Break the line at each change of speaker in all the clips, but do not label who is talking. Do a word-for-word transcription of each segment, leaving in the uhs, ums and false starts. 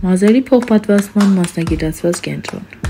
Մազերի փոխպատվաստման մասնագիտացված կենտրոն։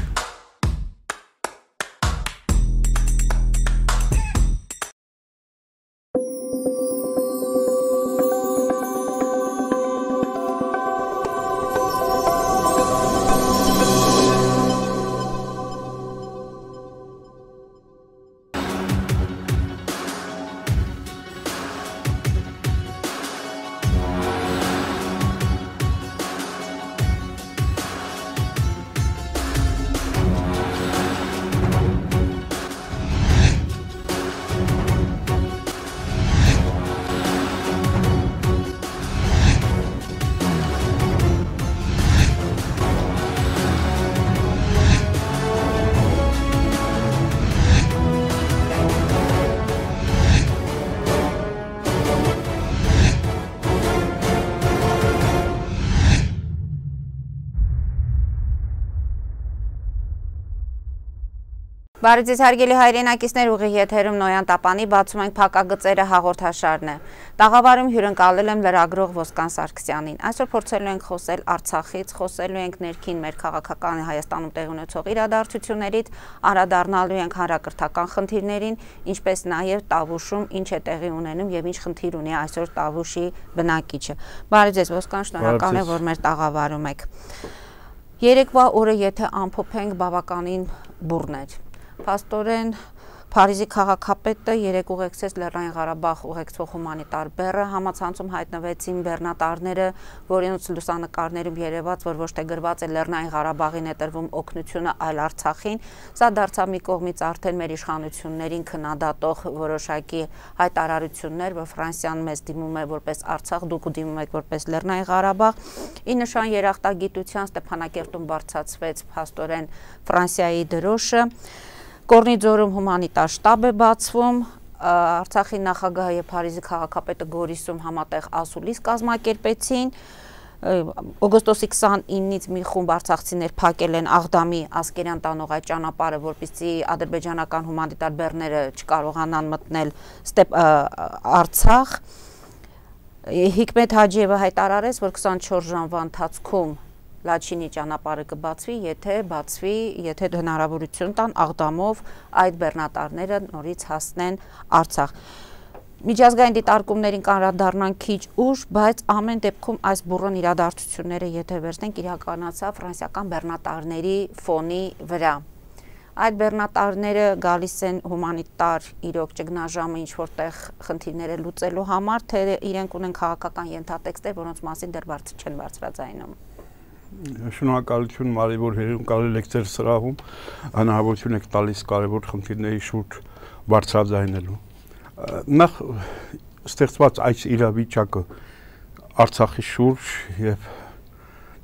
Բարի ձեզ հարգելի հայրենակիցներ, ուղիղ եթերում Նոյան Տապանի բացում ենք փակագծերը հաղորդաշարն է։ Տաղավարում հյուրընկալել եմ լրագրող Ոսկան Սարգսյանին։ Այսօր փորձելու ենք խոսել Արցախից, խոսելու ենք ներքին մեր քաղաքական Հայաստանում տեղի ունեցող իրադարձություններից, անդրադառնալու ենք հանրակրթական խնդիրներին, ինչպես նաև Տավուշում ինչ է տեղի ունենում եւ ինչ խնդիր ունի այսօր Տավուշի բնակիչը։ Բարի ձեզ Ոսկան, շնորհակալ եմ, որ մեր տաղավարում եք։ Երեկվա օրը եթե ամփոփենք բավականին բուռն էր։ Փաստորեն Փարիզի քաղաքապետը երեկ ուղեկցեց Լեռնային Ղարաբաղ ուղեկցող հումանիտար բեռը, համացանցում հայտնվեցին բեռնատարները, որոնց լուսանկարներում երևաց, որ ոչ թե գրված է Լեռնային Ղարաբաղին է տրվում օգնությունը, այլ Արցախին։ Սա դարձավ մի կողմից արդեն մեր իշխանություններին քննադատող որոշակի հայտարարություններ, որ Ֆրանսիան մեզ դիմում է որպես Արցախ, դուք դիմում եք որպես Լեռնային Ղարաբաղ։ Ի նշան երախտագիտության Ստեփանակերտում բարձրացվեց փաստորեն Ֆրանսիայի դրոշը։ Կորնիձորում հումանիտար շտաբ է բացվում, Արցախի նախագահը եւ Փարիզի քաղաքապետը Գորիսում համատեղ ասուլիս կազմակերպեցին, օգոստոսի քսանինից մի խումբ արցախցիներ փակել են Աղդամի Ասկերյան տանող այդ ճանապարհը, որպեսզի ադրբեջանական հումանիտար բեռները չկարողանան մտնել Արցախ։ Հիկմետ Հաջիևը հայտարարեց, որ քսանչորս ժամվա ընթացքում Լաչինի ճանապարհը կբացվի, եթե բացվի, եթե հնարավորություն տան Աղդամով այդ բեռնատարները նորից հասնեն Արցախ։ Միջազգային դիտարկումներին անդրադառնան քիչ ուշ, բայց ամեն դեպքում այս բուռն իրադարձությունները, եթե վերցնենք, իրականացավ ֆրանսիական բեռնատարների ֆոնի վրա։ Այդ բեռնատարները գալիս են հումանիտար իրոք ճգնաժամը ինչ որտեղ խնդիրները լուծելու համար, թե իրենք ունեն քաղաքական ենթատեքստեր, որոնց մասին դեռ բարձր չեն բարձրաձայնում։
Շնորհակալություն Մարի, որ հերունակալել եք ձեր սրահում, հնարավորություն եք տալիս կարևոր խնդիրների շուրջ բարձրաձայնելու։ Նախ ստեղծված այս իրավիճակը Արցախի շուրջ եւ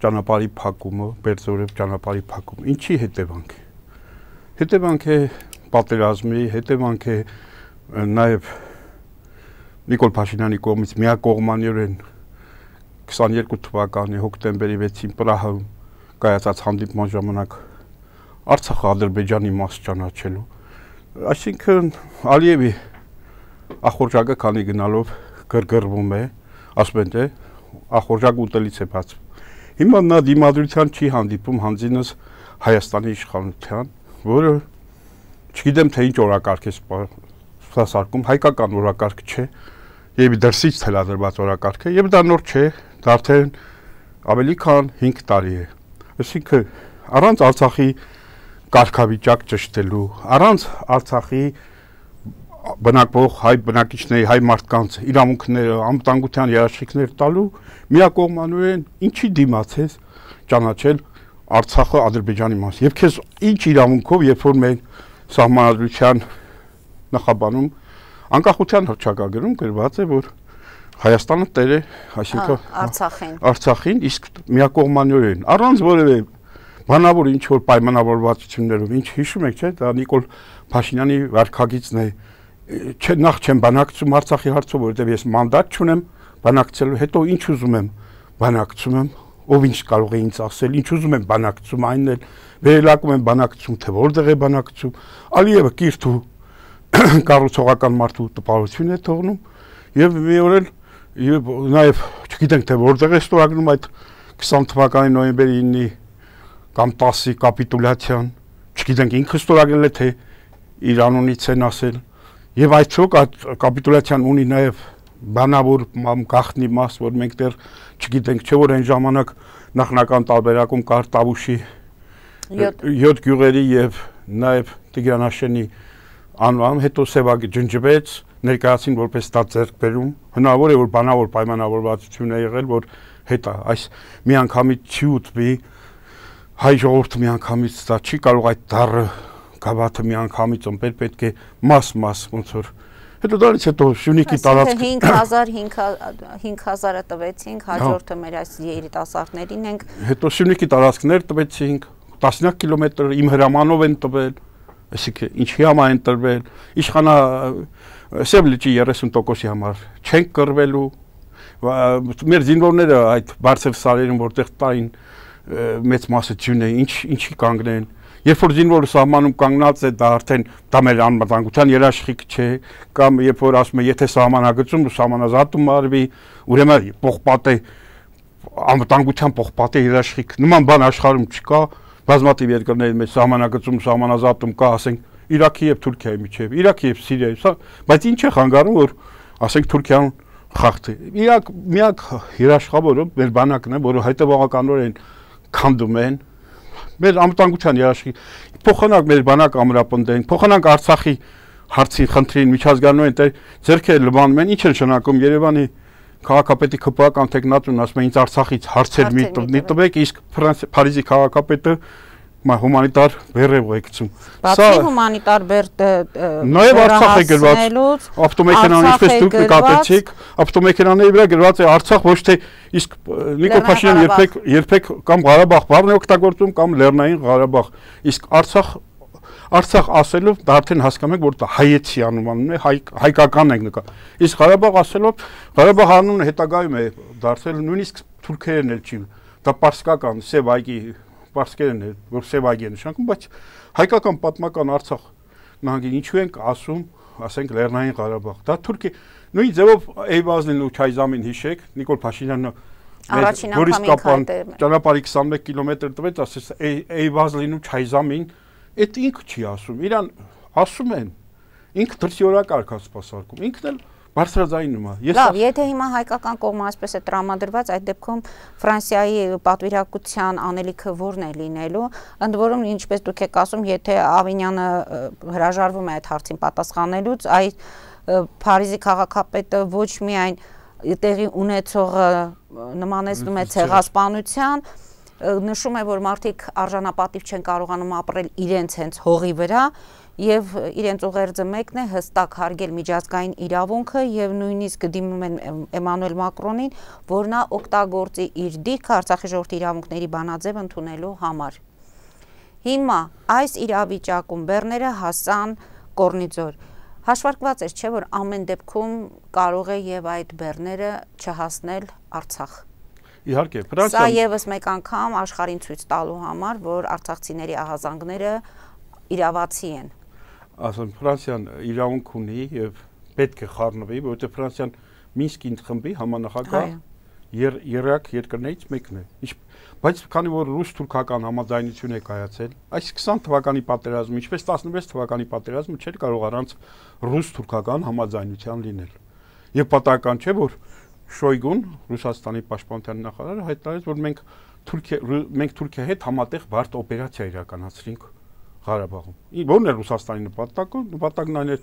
ճանապարհի փակումը, Բերձորև ճանապարհի փակումը, ինչի հետևանք է։ Հետևանք է պատերազմի, հետևանք է նաեւ Նիկոլ Փաշինյանի կողմից միակողմանիորեն քսաներկու թվականի հոկտեմբերի վեցին Պրահայում կայացած հանդիպման ժամանակ Արցախը Ադրբեջանի մաս ճանաչելու, այսինքն Ալիևի ախորժակը քանի գնալով գրգռվում է, ասում են թե ախորժակը ուտելից է բացվում։ Հիմա նա դիմադրության չի հանդիպում հանձինս Հայաստանի իշխանության, որը չգիտեմ թե ինչ օրակարգ է սպասարկում, հայկական օրակարգ չէ, եւ դրսից թելադրված օրակարգ է, եւ դա նոր չէ, դա արդեն ավելի քան հինգ տարի է։ Այսինքն առանց Արցախի կարգավիճակ ճշտելու, առանց Արցախի բնակվող հայ բնակիչների, հայ մարդկանց իրավունքները, անվտանգության երաշխիքներ տալու միակողմանորեն ինչի դիմացես ճանաչել Արցախը Ադրբեջանի մաս։ Եվ քեզ ինչ իրավունքով, երբ որ մենք սահմանադրության նախաբանում անկախության հռչակագրում գրված է, որ Հայաստանը տեր է, այսինքն
Արցախին։
Արցախին, իսկ միակողմանորեն, առանց որևէ բանավոր ինչ որ պայմանավորվածություններով, ինչ հիշում եք, չէ՞, դա Նիկոլ Փաշինյանի վարքագիծն է, չէ, նախ չեմ բանակցում Արցախի հարցով, որովհետև ես մանդատ չունեմ բանակցելու, հետո ինչ ուզում եմ բանակցում եմ, ով ինչ կարող է ինձ ասել, ինչ ուզում եմ բանակցում, այնն էլ վերելակում եմ բանակցում, թե որտեղ է բանակցում, Ալիևը կիրթ ու կառուցողական մարդու տպավորություն է թողնում եւ մի օր էլ եւ նաեւ չգիտենք թե որտեղ է ստորագրում այդ քսան թվականի նոյեմբերի ինը կամ տասի կապիտուլյացիան, չգիտենք ինքը ստորագրել է թե իր անունից են ասել, եւ այդչոք այդ կապիտուլյացիան ունի նաեւ բանավոր գաղտնի մաս, որ մենք դեռ չգիտենք, չէ՞ որ այն ժամանակ նախնական տարբերակում կար Տավուշի յոթ գյուղերի եւ նաեւ Տիգրանաշենի անվան, հետո Սևագի ջնջվեց, ներկայացին որպես դա ձեռքբերում, հնարավոր է որ բանավոր պայմանավորվածություն է եղել, որ հետա այս միանգամից չի ուտվի, հայ ժողովուրդը միանգամից դա չի կարող այդ դառը գավաթը միանգամից ըմբել, պետք է մաս-մաս ոնց որ հետո դրանից հետո Շունիկի տարածք
cinque hazar cinque hazar-ը տվեցինք, հաջորդը մեր այս երիտասարդներին ենք,
հետո Շունիկի տարածքներ տվեցինք, տասնյակ կիլոմետր իմ հրամանով են տվել, այսինքն ինչի համար են տրվել, իշխանա Սև լճի երեսուն տոկոսի համար չենք կռվելու, մեր զինվորները այդ բարձր սարերում որտեղ տային մեծ մասը ջուն է, ինչ ինչի կանգնեն, երբ որ զինվորը սահմանում կանգնած է, դա արդեն դա մեր անվտանգության երաշխիք չէ, կամ երբ որ ասում է եթե սահմանագծում ու սահմանազատում արվի, ուրեմն պողպատե անվտանգության պողպատե երաշխիք, նման բան աշխարհում չկա, բազմաթիվ երկրների մեջ սահմանագծում սահմանազատում կա, ասենք Իրաքի եւ Թուրքիայի միջեւ, Իրաքի եւ Սիրիայի, բայց ինչ է խանգարում, որ ասենք Թուրքիան խախտի։ Իրաք միակ երաշխավորը մեր բանակն է, որը հետևողականորեն քանդում են, մեր անվտանգության երաշխիք, փոխանակ մեր բանակ ամրապնդեն, փոխանակ Արցախի հարցին խնդրին միջազգանային ձեռքերը լվանում են, ինչ են շնակում Երևանի քաղաքապետի քպական տեխնատուն ասում է ինձ Արցախից հարցեր մի տվեք, իսկ Փարիզի քաղաքապետը հումանիտար բեռև եկցում։
Բացի հումանիտար բեռը
նաև Արցախ է գրված, ավտոմեքենան ինչպես դուք նկատեցիք, ավտոմեքենաների վրա գրված է Արցախ, ոչ թե իսկ Նիկոլ Փաշինյանը երբեք երբեք կամ Ղարաբաղ բառն է օգտագործում կամ Լեռնային Ղարաբաղ, իսկ Արցախ Արցախ ասելով դա արդեն հասկանում եք, որ դա հայեցի անունն է, հայկական ենք նկա։ Իսկ Ղարաբաղ ասելով Ղարաբաղ անունը հետագայում է դարձել նույնիսկ թուրքերեն էլ չի, դա պարսկական Սև այգի պարսկերեն է, որ Սև այգի է նշանակում, բայց հայկական պատմական Արցախ նահանգին ինչու ենք ասում, ասենք Լեռնային Ղարաբաղ։ Դա Թուրքի նույն ձևով Էյվազլին ու Չայզամին հիշեք, Նիկոլ Փաշինյանը Գորիս Կապան ճանապարհի քսանմեկ կիլոմետր տվեց, ասես Էյվազլին ու Չայզամին, այդ ինքը չի ասում, իրան ասում են, ինքը դրսի օրակարգ է սպասարկում, ինքն էլ բարձրաձայնում է։
Լավ, եթե հիմա հայկական կողմը այսպես է տրամադրված, այդ դեպքում Ֆրանսիայի պատվիրակության անելիքը որն է լինելու, ընդ որում ինչպես դուք եք ասում, եթե Ավինյանը հրաժարվում է այդ հարցին պատասխանելուց, այդ Փարիզի քաղաքապետը ոչ միայն տեղի ունեցողը նմանեցնում է ցեղասպանության, նշում է, որ մարդիկ արժանապատիվ չեն կարողանում ապրել իրենց հենց հողի վրա եւ իրենց ուղերձը մեկն է հստակ հարգել միջազգային իրավունքը եւ նույնիսկ դիմում են Էմանուել Մակրոնին, որ նա օգտագործի իր դիրքը Արցախի ժողովրդի իրավունքների բանաձև ընդունելու համար։ Հիմա այս իրավիճակում բեռները հասան Կորնիձոր։ Հաշվարկված է, չէ՞ որ ամեն դեպքում կարող է եւ այդ բեռները չհասնել Արցախ։
Իհարկե,
Սա եւս մեկ անգամ աշխարհին ցույց տալու համար, որ արցախցիների ահազանգները իրավացի են։
Ասում Ֆրանսիան իրավունք ունի եւ պետք է խառնվի, որովհետեւ Ֆրանսիան Մինսկի խմբի համանախագահ երեք երկրներից մեկն է։ Բայց քանի որ ռուս-թուրքական համաձայնություն է կայացել, այս քսան թվականի պատերազմը, ինչպես տասնվեց թվականի պատերազմը չէր կարող առանց ռուս-թուրքական համաձայնության լինել։ Եվ պատահական չէ, որ Շոյգուն, Ռուսաստանի պաշտպանության նախարարը հայտարարեց, որ մենք Թուրքիա մենք Թուրքիայի հետ համատեղ բարդ օպերացիա իրականացրինք Ղարաբաղում։ Որն է Ռուսաստանի նպատակը, նպատակն այն է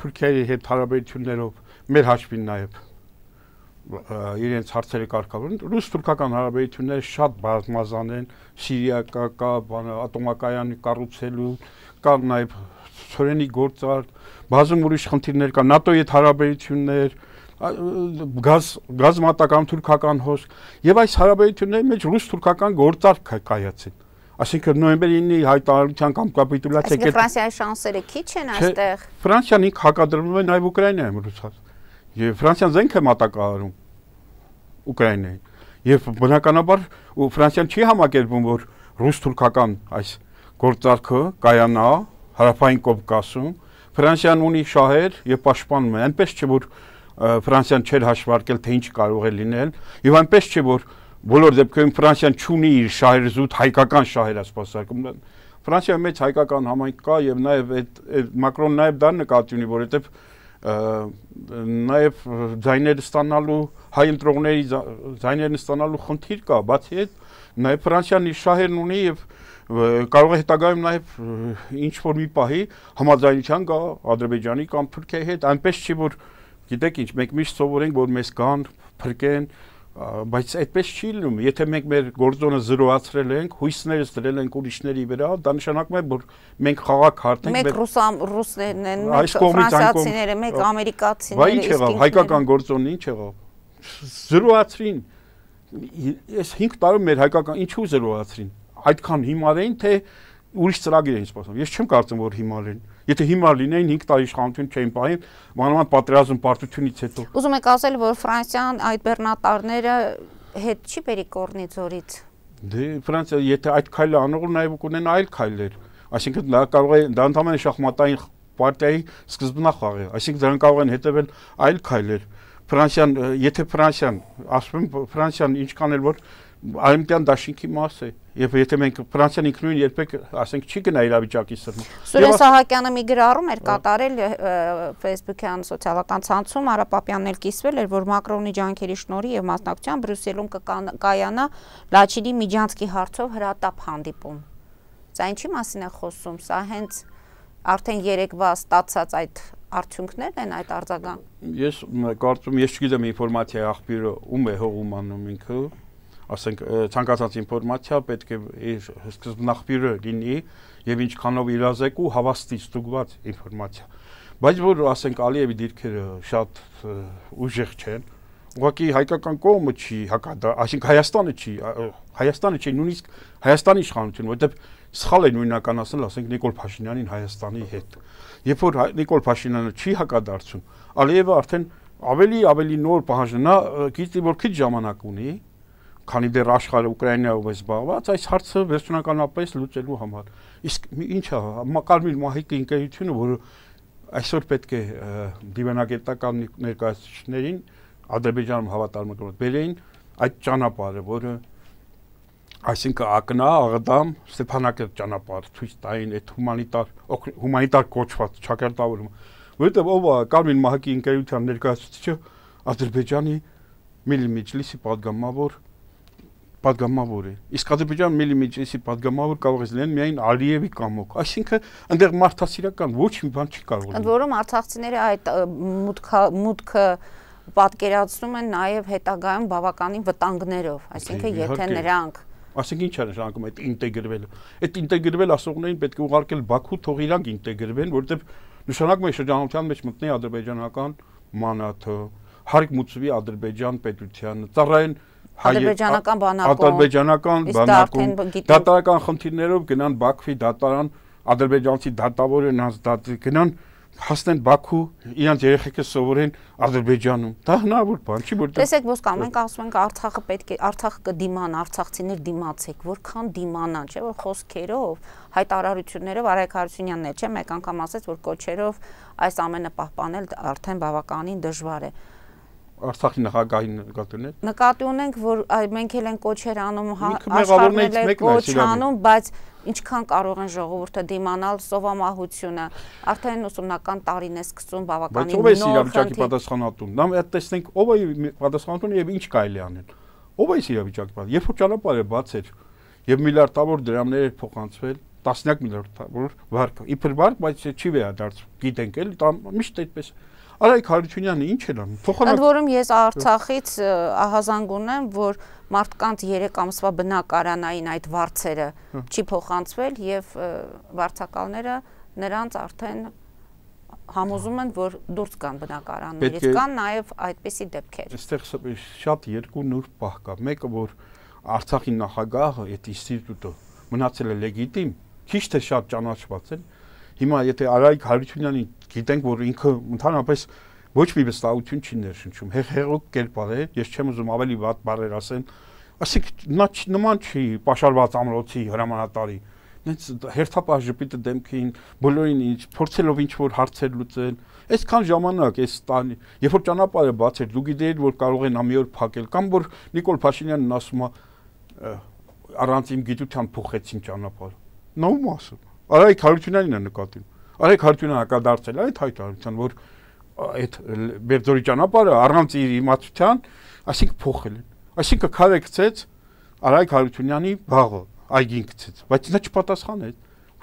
Թուրքիայի հետ հարաբերություններով մեր հաշվին նաև իրենց հարցերը կարգավորեն։ Ռուս-թուրքական հարաբերությունները շատ բազմազան են, Սիրիա կա, կա ատոմակայան կառուցելու, կա նաև ծորենի գործարք, բազում ուրիշ խնդիրներ կա, ՆԱՏՕ-ի հետ հարաբերություններ, գազ գազմատական թուրքական հոսք եւ այս հարաբերությունների մեջ ռուս-թուրքական գործարք կայացին։ Այսինքն նոյեմբերի ինը հայտարարության կամ կապիտուլյացիա
կետ Ֆրանսիայի շանսերը քիչ են այստեղ։
Ֆրանսիան ինք հակադրվում է նաեւ Ուկրաինայում ռուսաց։ Եվ Ֆրանսիան զենք է մատակարարում Ուկրաինային։ Եվ բնականաբար Ֆրանսիան չի համակերպում, որ ռուս-թուրքական այս գործարքը կայանա Հարավային Կովկասում։ Ֆրանսիան ունի շահեր եւ պաշտպանում է, այնպես չէ որ Ֆրանսիան չէր հաշվարկել թե ինչ կարող է լինել, եւ այնպես չէ որ բոլոր դեպքերում Ֆրանսիան չունի իր շահերը զուտ հայկական շահեր ասպասարկում։ Ֆրանսիայում մեծ հայկական համայնք կա եւ նաեւ այդ Մակրոնը նաեւ դա նկատի ունի, որովհետեւ նաեւ ձայներ ստանալու հայ ընտրողների ձայներն ստանալու խնդիր կա, բացի այդ նաեւ Ֆրանսիան իր շահերն ունի եւ կարող է հետագայում նաեւ ինչ որ մի պահի համաձայնության գա Ադրբեջանի կամ Թուրքիայի հետ, այնպես չի որ գիտեք ինչ, մենք միշտ սովորենք որ մեզ կան, փրկեն, բայց այդպես չի լինում, եթե մենք մեր գործոնը զրոացրել ենք, հույսներս դրել ենք ուրիշների վրա, դա նշանակում է որ մենք խաղակ հարթ ենք,
մեկ ռուսներն են, մեկ ֆրանսիացիները, մեկ ամերիկացիները,
բայց ինչ եղավ, հայկական գործոնն ինչ եղավ, զրոացրին, ես հինգ տարում մեր հայկական ինչու զրոացրին, այդքան հիմար էին, թե ուրիշ ծրագիր էին սպասում, ես չեմ կարծում որ հիմար են, եթե հիմար լինեին հինգ տարի իշխանություն չէին պահին, մանավանդ պատերազմ պարտությունից հետո։
Ուզում եք ասել, որ Ֆրանսիան այդ բեռնատարները հետ չի բերի կորնի ձորից։
Դե Ֆրանսիա եթե այդ քայլը անողը նաև կունենա այլ քայլեր, այսինքն դա կարող է դա ընդհանրապես շախմատային պարտիայի սկզբնախաղ է, այսինքն դրան կարող են հետևել այլ քայլեր։ Ֆրանսիան, եթե Ֆրանսիան, ասում եմ Ֆրանսիան ինչքան էլ որ արևմտյան դաշինքի մաս է, եւ եթե մենք Ֆրանսիան ինքնուրույն երբեք, ասենք, չի գնա իրավիճակի սրմը։
Սուրեն Սահակյանը մի գրառում էր կատարել Facebook-յան սոցիալական ցանցում, Արա Պապյանն էլ կիսվել էր, որ Մակրոնի ջանքերի շնորհիվ եւ մասնակցությամբ Բրյուսելում կկայանա Լաչինի Միջանցքի հարցով հրատապ հանդիպում։ Սա ինչի մասին է խոսում, սա հենց արդեն երեկվա ստացած այդ արդյունքներն են այդ արձագանք։
Ես կարծում ես չգիտեմ ինֆորմացիայի աղբյուրը ում է հողում անում ինքը, ասենք ցանկացած ինֆորմացիա պետք է իր սկզբնախբյուրը լինի եւ ինչքանով իրազեկ ու հավաստի ստուգված ինֆորմացիա։ Բայց որ ասենք Ալիևի դիրքերը շատ ուժեղ չեն, ուղղակի հայկական կողմը չի հակադա, այսինքն Հայաստանը չի, Հայաստանը չի, նույնիսկ Հայաստանի իշխանությունը, որովհետեւ սխալ է նույնական ասել, ասենք Նիկոլ Փաշինյանին Հայաստանի հետ։ Երբ որ Նիկոլ Փաշինյանը չի հակադարձում, Ալիևը արդեն ավելի ավելի նոր պահանջնա, գիտի որ քիչ ժամանակ ունի, քանի դեռ աշխարհը Ուկրաինայով է զբաղված, այս հարցը վերջնականապես լուծելու համար։ Իսկ ի՞նչ է, Կարմիր մահիկի ընկերությունը, որը այսօր պետք է դիվանագիտական ներկայացուցիչներին Ադրբեջանում հավատարմագրված բերեին այդ ճանապարհը, որը այսինքն ակնա, աղդամ, Ստեփանակերտ ճանապարհ ցույց տային այդ հումանիտար հումանիտար կոչված ճակատավորումը, որովհետև ով է Կարմիր մահիկի ընկերության ներկայացուցիչը Ադրբեջանի Միլլի Մեջլիսի падգամավոր падգամավոր է։ Իսկ Ադրբեջանի Միլլի Մեջլիսի падգամավոր կարող է լինել միայն Ալիևի կամոք։ Այսինքն այնտեղ մարդասիրական ոչ մի բան չի կարող լինել։
Ընդ որում արցախցիները այդ մուտքը մուտքը պատկերացնում են նաև հետագայում բավականին վտանգներով, այսինքն եթե նրանք
Այսինքն ինչ է նշանակում այդ ինտեգրվելը։ Այդ ինտեգրվել ասողներին պետք է ուղարկել Բաքու, թող իրանք ինտեգրվեն, որովհետև նշանակում է շրջանառության մեջ մտնի ադրբեջանական մանաթը, հարկ մուծվի Ադրբեջան պետությանը, ծառայեն
ադրբեջանական բանակում,
ադրբեջանական բանակում, դատարական խնդիրներով գնան Բաքվի դատարան, ադրբեջանցի դատավորը նրանց դատ գնան հասնեն Բաքու, իրանց երեխեքը սովորեն Ադրբեջանում։ Դա հնարավոր բան չի, որտեղ
Տեսեք, ոսկամ, մենք ասում ենք Արցախը պետք է Արցախը կդիման, արցախցիներ դիմացեք, որքան դիմանան, չէ՞ որ խոսքերով, հայտարարություններով Արայք Հարությունյանն էլ չէ, մեկ անգամ ասեց, որ կոչերով այս ամենը պահպանել արդեն բավականին դժվար է։
Արցախի նախագահին նկատի ունեք։
Նկատի ունենք, որ մենք էլ են կոչեր անում,
աշխարհն էլ
կոչ անում, բայց ինչքան կարող են ժողովուրդը դիմանալ սովամահությունը, արդեն ուսումնական տարին է սկսում բավականին նոր
իրավիճակի պատասխանատուն։ Նա այդ տեսնենք ով է պատասխանատուն եւ ինչ կարելի անել։ Ով է իրավիճակի պատասխանատուն։ Երբ որ ճանապարհը բաց էր եւ միլիարդավոր դրամներ էր փոխանցվել, տասնյակ միլիարդավոր վարկ, իբր վարկ, բայց չի վերադարձ։ Գիտենք էլի, միշտ այդպես Արայք Հարությունյանը ինչ էր անում։
Ընդ որում ես Արցախից ահազանգ ունեմ, որ մարդկանց երեք ամսվա բնակարանային այդ վարձերը չի փոխանցվել եւ վարձակալները նրանց արդեն համոզում են, որ դուրս գան բնակարաններից, կան նաեւ այդպիսի դեպքեր։
Այստեղ շատ երկու նուրբ պահ կա։ Մեկը որ Արցախի նախագահը այդ ինստիտուտը մնացել է լեգիտիմ, քիչ թե շատ ճանաչված է։ Հիմա եթե Արայք Հարությունյանին գիտենք, որ ինքը ընդհանրապես ոչ մի վստահություն չի ներշնչում, հեղեղուկ կերպար է, ես չեմ ուզում ավելի վատ բառեր ասեն, ասենք նա նման չի պաշարված ամրոցի հրամանատարի, նենց հերթապահ ժպիտը դեմքին, բոլորին ինչ փորձելով ինչ որ հարցեր լուծել, այսքան ժամանակ այս տանի, երբ որ ճանապարհը բացեր, դու գիտեիր որ կարող են ամի օր փակել, կամ որ Նիկոլ Փաշինյանն ասում է առանց իմ գիտության փոխեցին ճանապարհը։ Նա ում ասում։ Արայք Հարությունյանին է նկատում։ Արայք Հարությունյանը հակադարձել է այդ հայտարարության, որ այդ Բերձորի ճանապարհը առանց իր իմացության, այսինքն փոխել են։ Այսինքն քարը գցեց Արայք Հարությունյանի բաղը, այգին գցեց, բայց նա չպատասխանեց։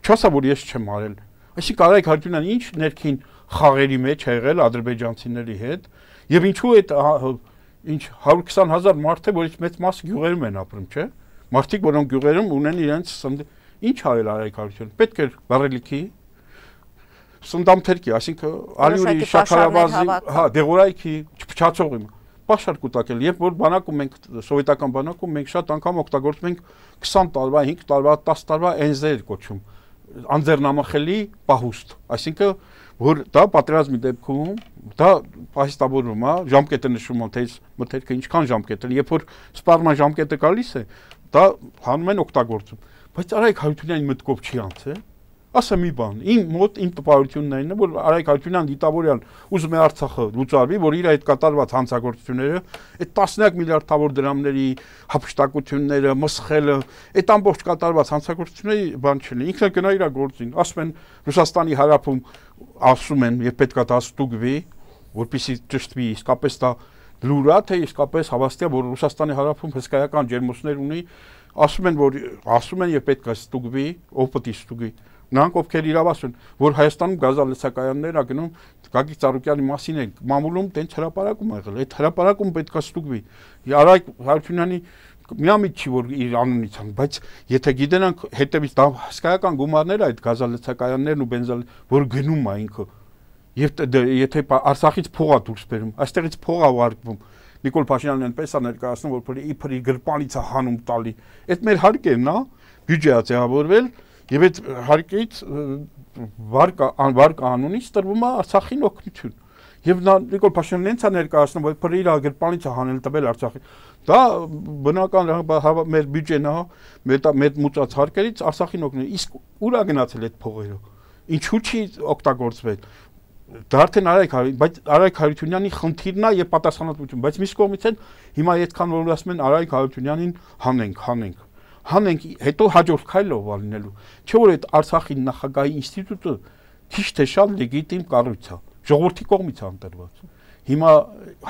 Չասա որ ես չեմ արել։ Այսինքն Արայք Հարությունյանը ինչ ներքին խաղերի մեջ է եղել ադրբեջանցիների հետ, եւ ինչու այդ ինչ հարյուր քսան հազար մարդ է, որից մեծ մասը գյուղերում են ապրում, չէ՞։ Մարդիկ, որոնք գյուղերում ունեն իրենց ինչ արել Արայք Հարությունյանը, պետք է բարելիքի սնդամթերքի, այսինքն ալյուրի շաքարավազի, հա, դեղորայքի, չփչացող իմ պաշար կուտակել, երբ որ բանակում մենք սովետական բանակում մենք շատ անգամ օգտագործում ենք քսան տարվա, հինգ տարվա, տասը տարվա էնզեր կոչում, անձեռնամխելի պահուստ, այսինքն որ դա պատերազմի դեպքում դա պահեստավորվում է, ժամկետը նշում է, թե մթերքը ինչքան ժամկետ է, երբ որ սպառման ժամկետը գալիս է, դա հանում են օգտագործում, բայց Արայք Հարությունյանի մտքով չի անցել։ Ասա մի բան, իմ մոտ իմ տպավորությունն է, որ Արայք Հարությունյան դիտավորյալ ուզում է Արցախը լուծարվի, որ իր այդ կատարված հանցագործությունները, այդ տասնյակ միլիարդավոր դրամների հափշտակությունները, մսխելը, այդ ամբողջ կատարված հանցագործությունների բան չլինի, ինքն է գնա իր գործին, ասում են Ռուսաստանի հարավում ասում են, եւ պետքա դա ստուգվի, որպեսզի ճշտվի, իսկապես դա լուր է, թե իսկապես հավաստիա, որ Ռուսաստանի հարավում հսկայական ջերմոցներ ունի, ասում են, որ ասում են եւ պետքա ստուգվի, ով պետք է ստուգի։ Նրանք ովքեր իրավասու են, որ Հայաստանում գազալցակայաններ ա գնում, Գագիկ Ծառուկյանի մասին են մամուլում տենց հրապարակում ա եղել, այդ հրապարակում պետք է ստուգվի։ Արայք Հարությունյանի միամիտ չի որ իր անունից ան, բայց եթե գիտենանք հետևից դա հսկայական գումարներ այդ գազալցակայաններն ու բենզալ, որ գնում ա ինքը, եւ եթե Արցախից փող ա դուրս բերում, այստեղից փող ա ուղարկվում, Նիկոլ Փաշինյանն այնպես ա ներկայացնում, որ իբր իր գրպանից ա հանում տալի։ Այդ մեր հարկերն ա, բյուջե ա ձևավորվել եւ այդ հարկից վարկա վարկա անունից տրվում է Արցախին օգնություն։ Եվ նա Նիկոլ Փաշինյանն այնց է ներկայացնում, որ իբր իր գրպանից ա հանել տվել Արցախին։ Դա բնական մեր բյուջեն ա, մեր մուծած հարկերից Արցախին օգնել։ Իսկ ուր ա գնացել այդ փողերը։ Ինչու՞ չի օգտագործվել։ Դա արդեն Արայք, բայց Արայք Հարությունյանի խնդիրն է եւ պատասխանատվություն, բայց մյուս կողմից էլ հիմա այդքան որ ասում են Արայք Հարությունյանին հանենք, հանենք, հանենք, հետո հաջորդ քայլով ալնելու, չէ՞ որ այդ Արցախի նախագահի ինստիտուտը քիչ թե շատ լեգիտիմ կառույց է, ժողովրդի կողմից է ընտրված։ Հիմա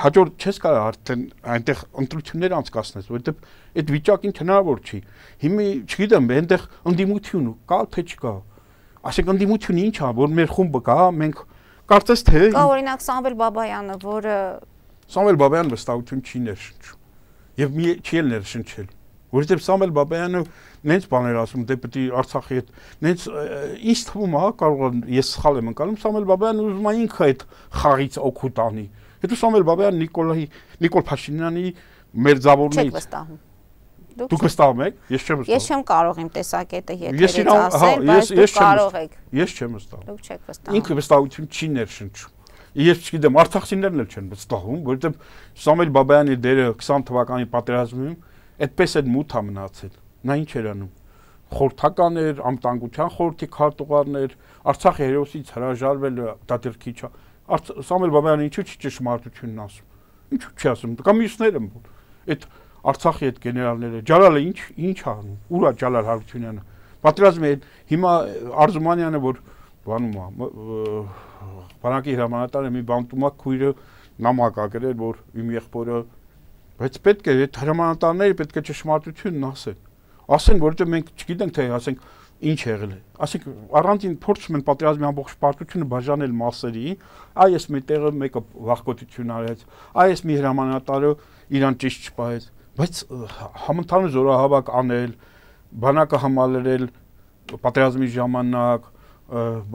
հաջորդ չես կարող արդեն այնտեղ ընտրություններ անցկացնես, որովհետեւ այդ վիճակին հնարավոր չի։ Հիմա չգիտեմ, այնտեղ ընդդիմություն կա թե չկա։ Ասենք ընդդիմությունը ինչ է, որ մեր խումբը կա, մենք կարծես թե
կա օրինակ Սամվել Բաբայանը, որը
Սամվել Բաբայանը վստահություն չի ներշնչում եւ մի չի էլ ներշնչել, որովհետեւ Սամվել Բաբայանը նենց բաներ ասում, դե պետք է Արցախի հետ նենց ինչ թվում է, կարող է ես սխալ եմ ընկալում, Սամվել Բաբայանը ուզում է ինքը այդ խաղից օգուտ անի։ Հետո Սամվել Բաբայանը Նիկոլայի Նիկոլ Փաշինյանի մերձավորներից վստահում։ Դուք վստահում եք, ես չեմ վստահում։
Ես չեմ կարող իմ տեսակետը եթերից ասել, բայց դուք կարող եք։
Ես չեմ վստահում։
Դուք չեք վստահում։
Ինքը վստահություն չի ներշնչում։ Ես չգիտեմ, արցախցիներն էլ չեն վստահում, որովհետև Սամվել Բաբայանի դերը քսան թվականի պատերազմում այդպես էլ մութ է մնացել։ Նա ինչ էր անում։ Խորհրդական էր, անվտանգության խորհրդի քարտուղարներ, Արցախի հերոսից հրաժարվելը դա դեռ քիչ է։ Սամվել Բաբայանը ինչու՞ չի ճշմարտությունն ասում։ Ինչու՞ չի ասում։ Կամ մյուսները այդ Արցախի այդ գեներալները, Ջալալը ինչ ինչ անում, ուր է Ջալալ Հարությունյանը։ Պատերազմի հիմա Արզումանյանը, որ բանում է, բանակի հրամանատարը մի բանտում է քույրը նամակ ա գրել, որ իմ եղբորը, բայց պետք է այդ հրամանատարները պետք է ճշմարտությունն ասեն։ Ասեն, որովհետև մենք չգիտենք թե ասենք ինչ եղել է։ Ասենք առանցին փորձում են պատերազմի ամբողջ պարտությունը բաժանել մասերի, այ ես մետեղը մեկը վախկոտություն արեց, այ ես մի հրամանատարը իրան ճիշտ չպահեց, բայց համընդհանուր զորահավաք անել, բանակը համալրել պատերազմի ժամանակ,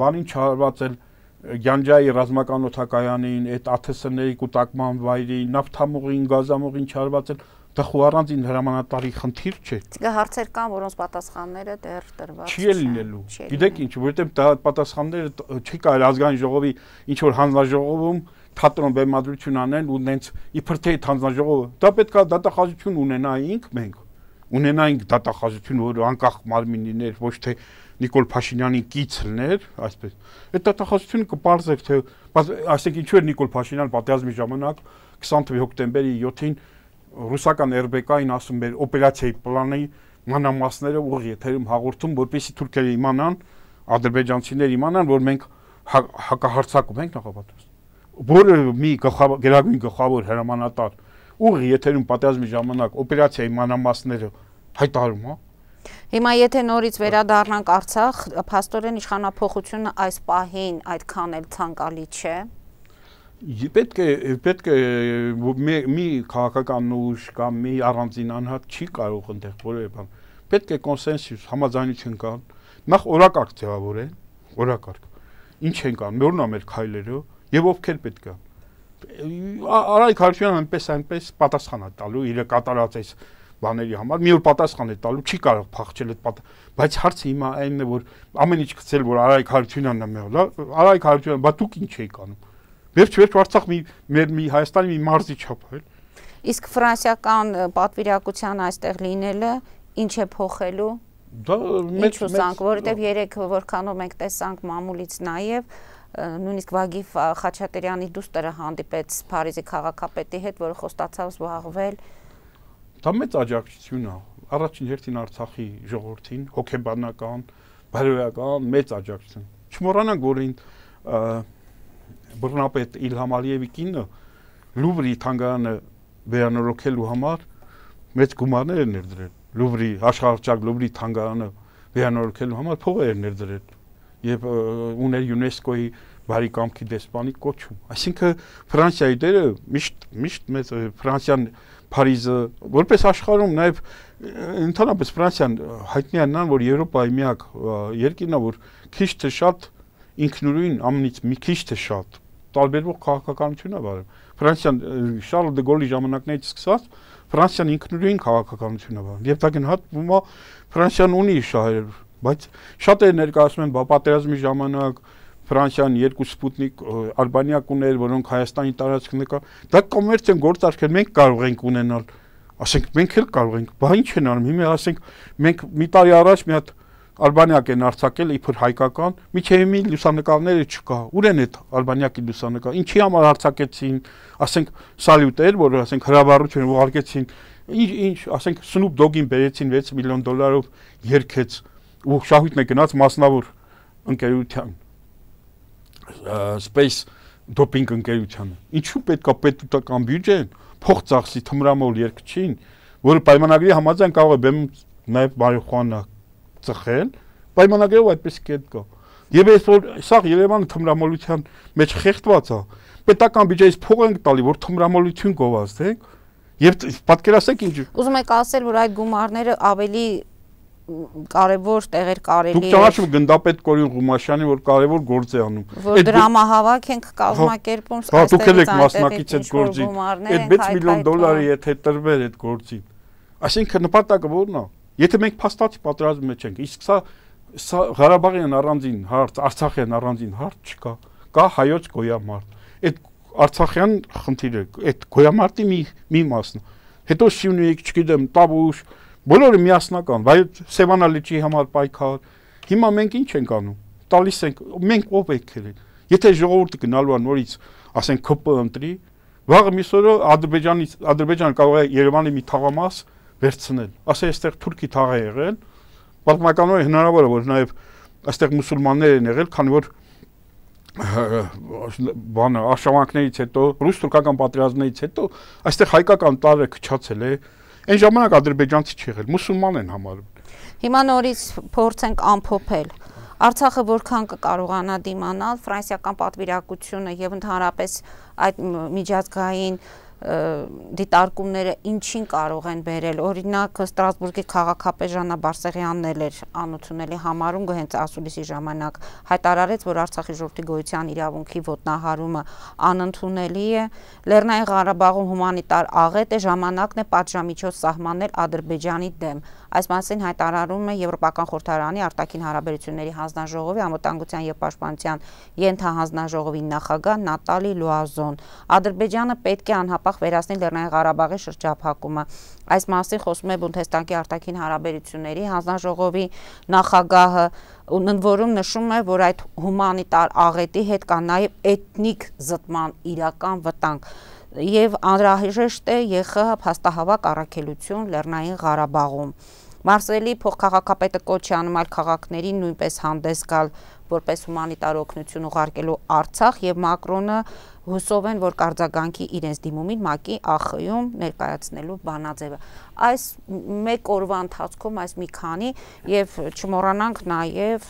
բանին չարվածել Գյանջայի ռազմական օդակայանին, այդ ԱԹՍ-ների կուտակման վայրին, նավթամուղին, գազամուղին չարվածել, դա խո առանձին հրամանատարի խնդիր չէ։
Դա հարցեր կան, որոնց պատասխանները դեռ տրված
չի լինելու։ Գիտեք ինչ, որովհետև դա պատասխանները չի կարելի ազգային ժողովի ինչ որ հանձնաժողովում թատրոն բեմադրություն անեն ու նենց իբր թե հանձնաժողովը դա պետք է դատախազություն ունենայինք մենք ունենայինք դատախազություն, որ անկախ մարմիններ, ոչ թե Նիկոլ Փաշինյանի կից լիներ, այսպես։ Այդ դատախազությունը կպարզեր, թե այսինքն ինչու էր Նիկոլ Փաշինյանը պատերազմի ժամանակ քսանթ հոկտեմբերի յոթին ռուսական R B K-ին ասում էր օպերացիայի պլանի մանրամասները ուղիղ եթերում հաղորդում, որպեսզի թուրքերը իմանան, ադրբեջանցիները իմանան, որ մենք հակահարձակում ենք նախապատրաստ։ Որը մի գերագույն գլխավոր հրամանատար ուղիղ եթերում պատերազմի ժամանակ օպերացիայի մանրամասները հայտարարում, հա։
Հիմա եթե նորից վերադառնանք Արցախ, փաստորեն իշխանափոխությունը այս պահին այդքան էլ ցանկալի չէ։
Պետք է պետք է մի քաղաքական ուժ կամ մի առանձին անհատ չի կարող այնտեղ որևէ բան։ Պետք է կոնսենսուս, համաձայնություն կան, նախ օրակարգ ձևավորեն, օրակարգ։ Ինչ են կան, նորն է մեր քայլերը եւ ովքեր պետք է։ Արայք Հարությունյանը այնպես այնպես պատասխան է տալու իր կատարած այս բաների համար, մի օր պատասխան է տալու, չի կարող փախչել այդ պատ, բայց հարցը հիմա այնն է, որ ամեն ինչ գցել, որ Արայք Հարությունյանն է մեղա, Արայք Հարությունյանը, բա դուք ինչ եք անում։ Վերջ-վերջ Արցախ մի մեր մի Հայաստանի մի մարզի չափ է։
Իսկ ֆրանսիական պատվիրակության այստեղ լինելը ինչ է փոխելու։
Դա
մեծ ուսանք, որովհետև երեք որքանով մենք տեսանք մամուլից նաև նույնիսկ Վագիֆ Խաչատրյանի դուստրը հանդիպեց Փարիզի քաղաքապետի հետ, որը խոստացավ զբաղվել։
Դա մեծ աջակցություն է։ Առաջին հերթին Արցախի ժողովրդին, հոգեբանական, բարոյական մեծ աջակցություն։ Չմոռանանք, որ այն բռնապետ Իլհամ Ալիևի կինը Լուվրի թանգարանը վերանորոգելու համար մեծ գումարներ էր ներդրել։ Լուվրի աշխարհահռչակ Լուվրի թանգարանը վերանորոգելու համար փողեր էր ներդրել եւ ուներ ՅՈՒՆԵՍԿՕ-ի բարի կամքի դեսպանի կոչում։ Այսինքն Ֆրանսիայի դերը միշտ միշտ մեծ Ֆրանսիան Փարիզը որպես աշխարհում նաև ընդհանրապես Ֆրանսիան հայտնի է նրան, որ Եվրոպայի միակ երկիրն է, որ քիչ թե շատ ինքնուրույն ամենից մի քիչ թե շատ տարբերվող քաղաքականություն է վարում։ Ֆրանսիան Շարլ դե Գոլի ժամանակներից սկսած Ֆրանսիան ինքնուրույն քաղաքականություն է վարում։ Եվ դա գնահատվում է Ֆրանսիան ունի շահեր, բայց շատերը ներկայացնում են պատերազմի ժամանակ Ֆրանսիան երկու սպուտնիկ Ալբանիա կուներ, որոնք Հայաստանի տարածքն եկա։ Դա կոմերցիոն գործարքեր մենք կարող ենք ունենալ։ Ասենք մենք էլ կարող ենք, բա ինչ են անում։ Հիմա ասենք մենք մի տարի առաջ մի հատ Ալբանիակ են արձակել իբր հայկական, միջև մի լուսանկարները չկա։ Ուր են այդ Ալբանիակի լուսանկար։ Ինչի համար արձակեցին, ասենք սալյուտեր, որ ասենք հրավառություն ուղարկեցին, ինչ ինչ, ասենք Snoop Dogg-ին բերեցին վեց միլիոն դոլարով երկեց ու շահույթն է գնաց մասնավոր ընկերության Space Doping ընկերությանը։ Ինչու պետք է պետական բյուջեն փող ծախսի թմրամոլ երկչին, որը պայմանագրի համաձայն կարող է բեմ նաև մարիխուանա ծխել, պայմանագրով այդպես կետ կա։ Եվ այս որ սա Երևանը թմրամոլության մեջ խեղդված է, պետական բյուջեից փող ենք տալի, որ թմրամոլություն գովազդենք, եւ պատկերացեք ինչ։
Ուզում եք ասել, որ այդ գումարները ավելի կարևոր տեղեր կարելի է։
Դուք ճանաչում գնդապետ Կորյուն Ղումաշյանի, որ կարևոր գործ է անում։
Որ դրամահավաք ենք կազմակերպում,
այստեղից դուք եք մասնակից այդ գործին։ Այդ վեց միլիոն դոլարը եթե տրվեր այդ գործին։ Այսինքն նպատակը ո՞րն է։ Եթե մենք փաստացի պատերազմի մեջ ենք, իսկ սա սա Ղարաբաղյան առանձին հարց, Արցախյան առանձին հարց չկա, կա հայոց գոյամարտ։ Այդ Արցախյան խնդիրը, այդ գոյամարտի մի մի մասն։ Հետո Սյունիք, չգիտեմ, Տավուշ, բոլորը միասնական, բայց Սևանա լճի համար պայքար։ Հիմա մենք ինչ ենք անում։ Տալիս ենք, մենք ով եք ելել։ Եթե ժողովուրդը գնալու է նորից, ասենք K P ընտրի, վաղը միսօրը Ադրբեջանից Ադրբեջանը կարող է Երևանի մի թաղամաս վերցնել։ Ասե այստեղ թուրքի թաղ է եղել, պատմականորեն հնարավոր է որ նաև այստեղ մուսուլմաններ են եղել, քանի որ բանը արշավանքներից հետո, ռուս-թուրքական պատերազմներից հետո այստեղ հայկական տարը քչացել է։ Այն ժամանակ ադրբեջանցի չի եղել, մուսուլման են համարում։
Հիմա նորից փորձենք ամփոփել։ Արցախը որքան կկարողանա դիմանալ ֆրանսիական պատվիրակությունը եւ ընդհանրապես այդ միջազգային դիտարկումները ինչին կարող են բերել։ Օրինակ Ստրասբուրգի քաղաքապետ Ժաննա Բարսեղյանն էր անընդունելի համարում հենց ասուլիսի ժամանակ հայտարարեց, որ Արցախի ժողովրդի գոյության իրավունքի ոտնահարումը անընդունելի է։ Լեռնային Ղարաբաղում հումանիտար աղետ է, ժամանակն է պատժամիջոց սահմանել Ադրբեջանի դեմ։ Այս մասին հայտարարում է Եվրոպական խորհրդարանի արտաքին հարաբերությունների հանձնաժողովի անվտանգության եւ պաշտպանության ենթահանձնաժողովի նախագահ Նատալի Լուազոն։ Ադրբեջանը պետք է անհապաղ անապահ վերացնի Լեռնային Ղարաբաղի շրջափակումը։ Այս մասին խոսում է Բունդեսթագի արտաքին հարաբերությունների հանձնաժողովի նախագահը, ընդ որում նշում է, որ այդ հումանիտար աղետի հետ կա նաև էթնիկ զտման իրական վտանգ եւ անհրաժեշտ է ԵԽՀ փաստահավաք առաքելություն Լեռնային Ղարաբաղում։ Մարսելի փոխքաղաքապետը կոչ է անում այլ քաղաքներին նույնպես հանդես գալ որպես հումանիտար օգնություն ուղարկելու Արցախ եւ Մակրոնը հուսով են, որ կարձագանքի իրենց դիմումին ՄԱԿ-ի ԱԽ-ում ներկայացնելու բանաձևը։ Այս մեկ օրվա ընթացքում այս մի քանի եւ չմոռանանք նաեւ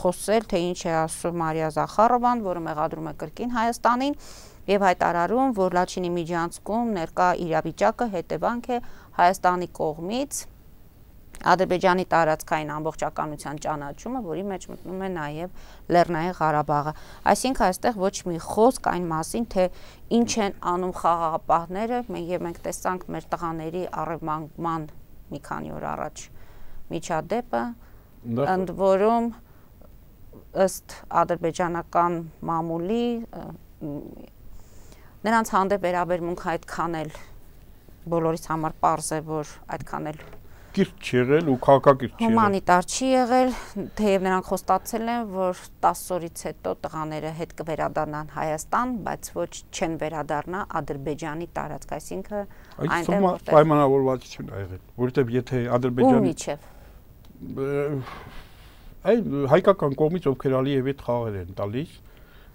խոսել, թե ինչ է ասում Մարիա Զախարովան, որը մեղադրում է կրկին Հայաստանին եւ հայտարարում, որ Լաչինի միջանցքում ներկա իրավիճակը հետևանք է Հայաստանի կողմից Ադրբեջանի տարածքային ամբողջականության ճանաչումը, որի մեջ մտնում է նաև Լեռնային Ղարաբաղը։ Այսինքն այստեղ ոչ մի խոսք այն մասին, թե ինչ են անում խաղաղապահները, եւ մենք տեսանք մեր տղաների առևանգման մի քանի օր առաջ միջադեպը, ընդ որում ըստ ադրբեջանական մամուլի նրանց հանդեպ վերաբերմունքը այդքան էլ բոլորիս համար պարզ է, որ այդքան էլ
կիրճ չի եղել ու քաղաքակիրճ չի եղել։
Հումանիտար չի եղել, թեև նրանք խոստացել են, որ տասը օրից հետո տղաները հետ կվերադառնան Հայաստան, բայց ոչ չեն վերադառնա Ադրբեջանի տարածք, այսինքն
այնտեղ որտեղ պայմանավորվածություն ա եղել, որովհետև եթե Ադրբեջանի այ հայկական կողմից ովքեր Ալիևի հետ խաղեր են տալիս,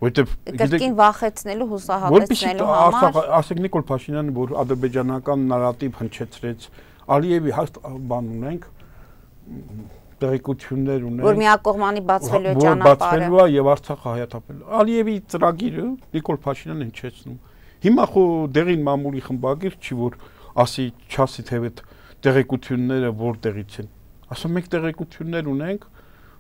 որովհետև
կրկին վախեցնելու, հուսահատեցնելու համար,
ասենք Նիկոլ Փաշինյանը, որ ադրբեջանական նարատիվ հնչեցրեց, Ալիևի հաստ բան ունենք, տեղեկություններ ունենք,
որ միակողմանի բացվելու է
ճանապարհը, բացվելու է եւ Արցախը հայաթափելու։ Ալիևի ծրագիրը Նիկոլ Փաշինյանն հնչեցնում։ Հիմա խո դեղին մամուլի խմբագիր չի, որ ասի չասի թե այդ տեղեկությունները որտեղից են։ Ասում մենք տեղեկություններ ունենք,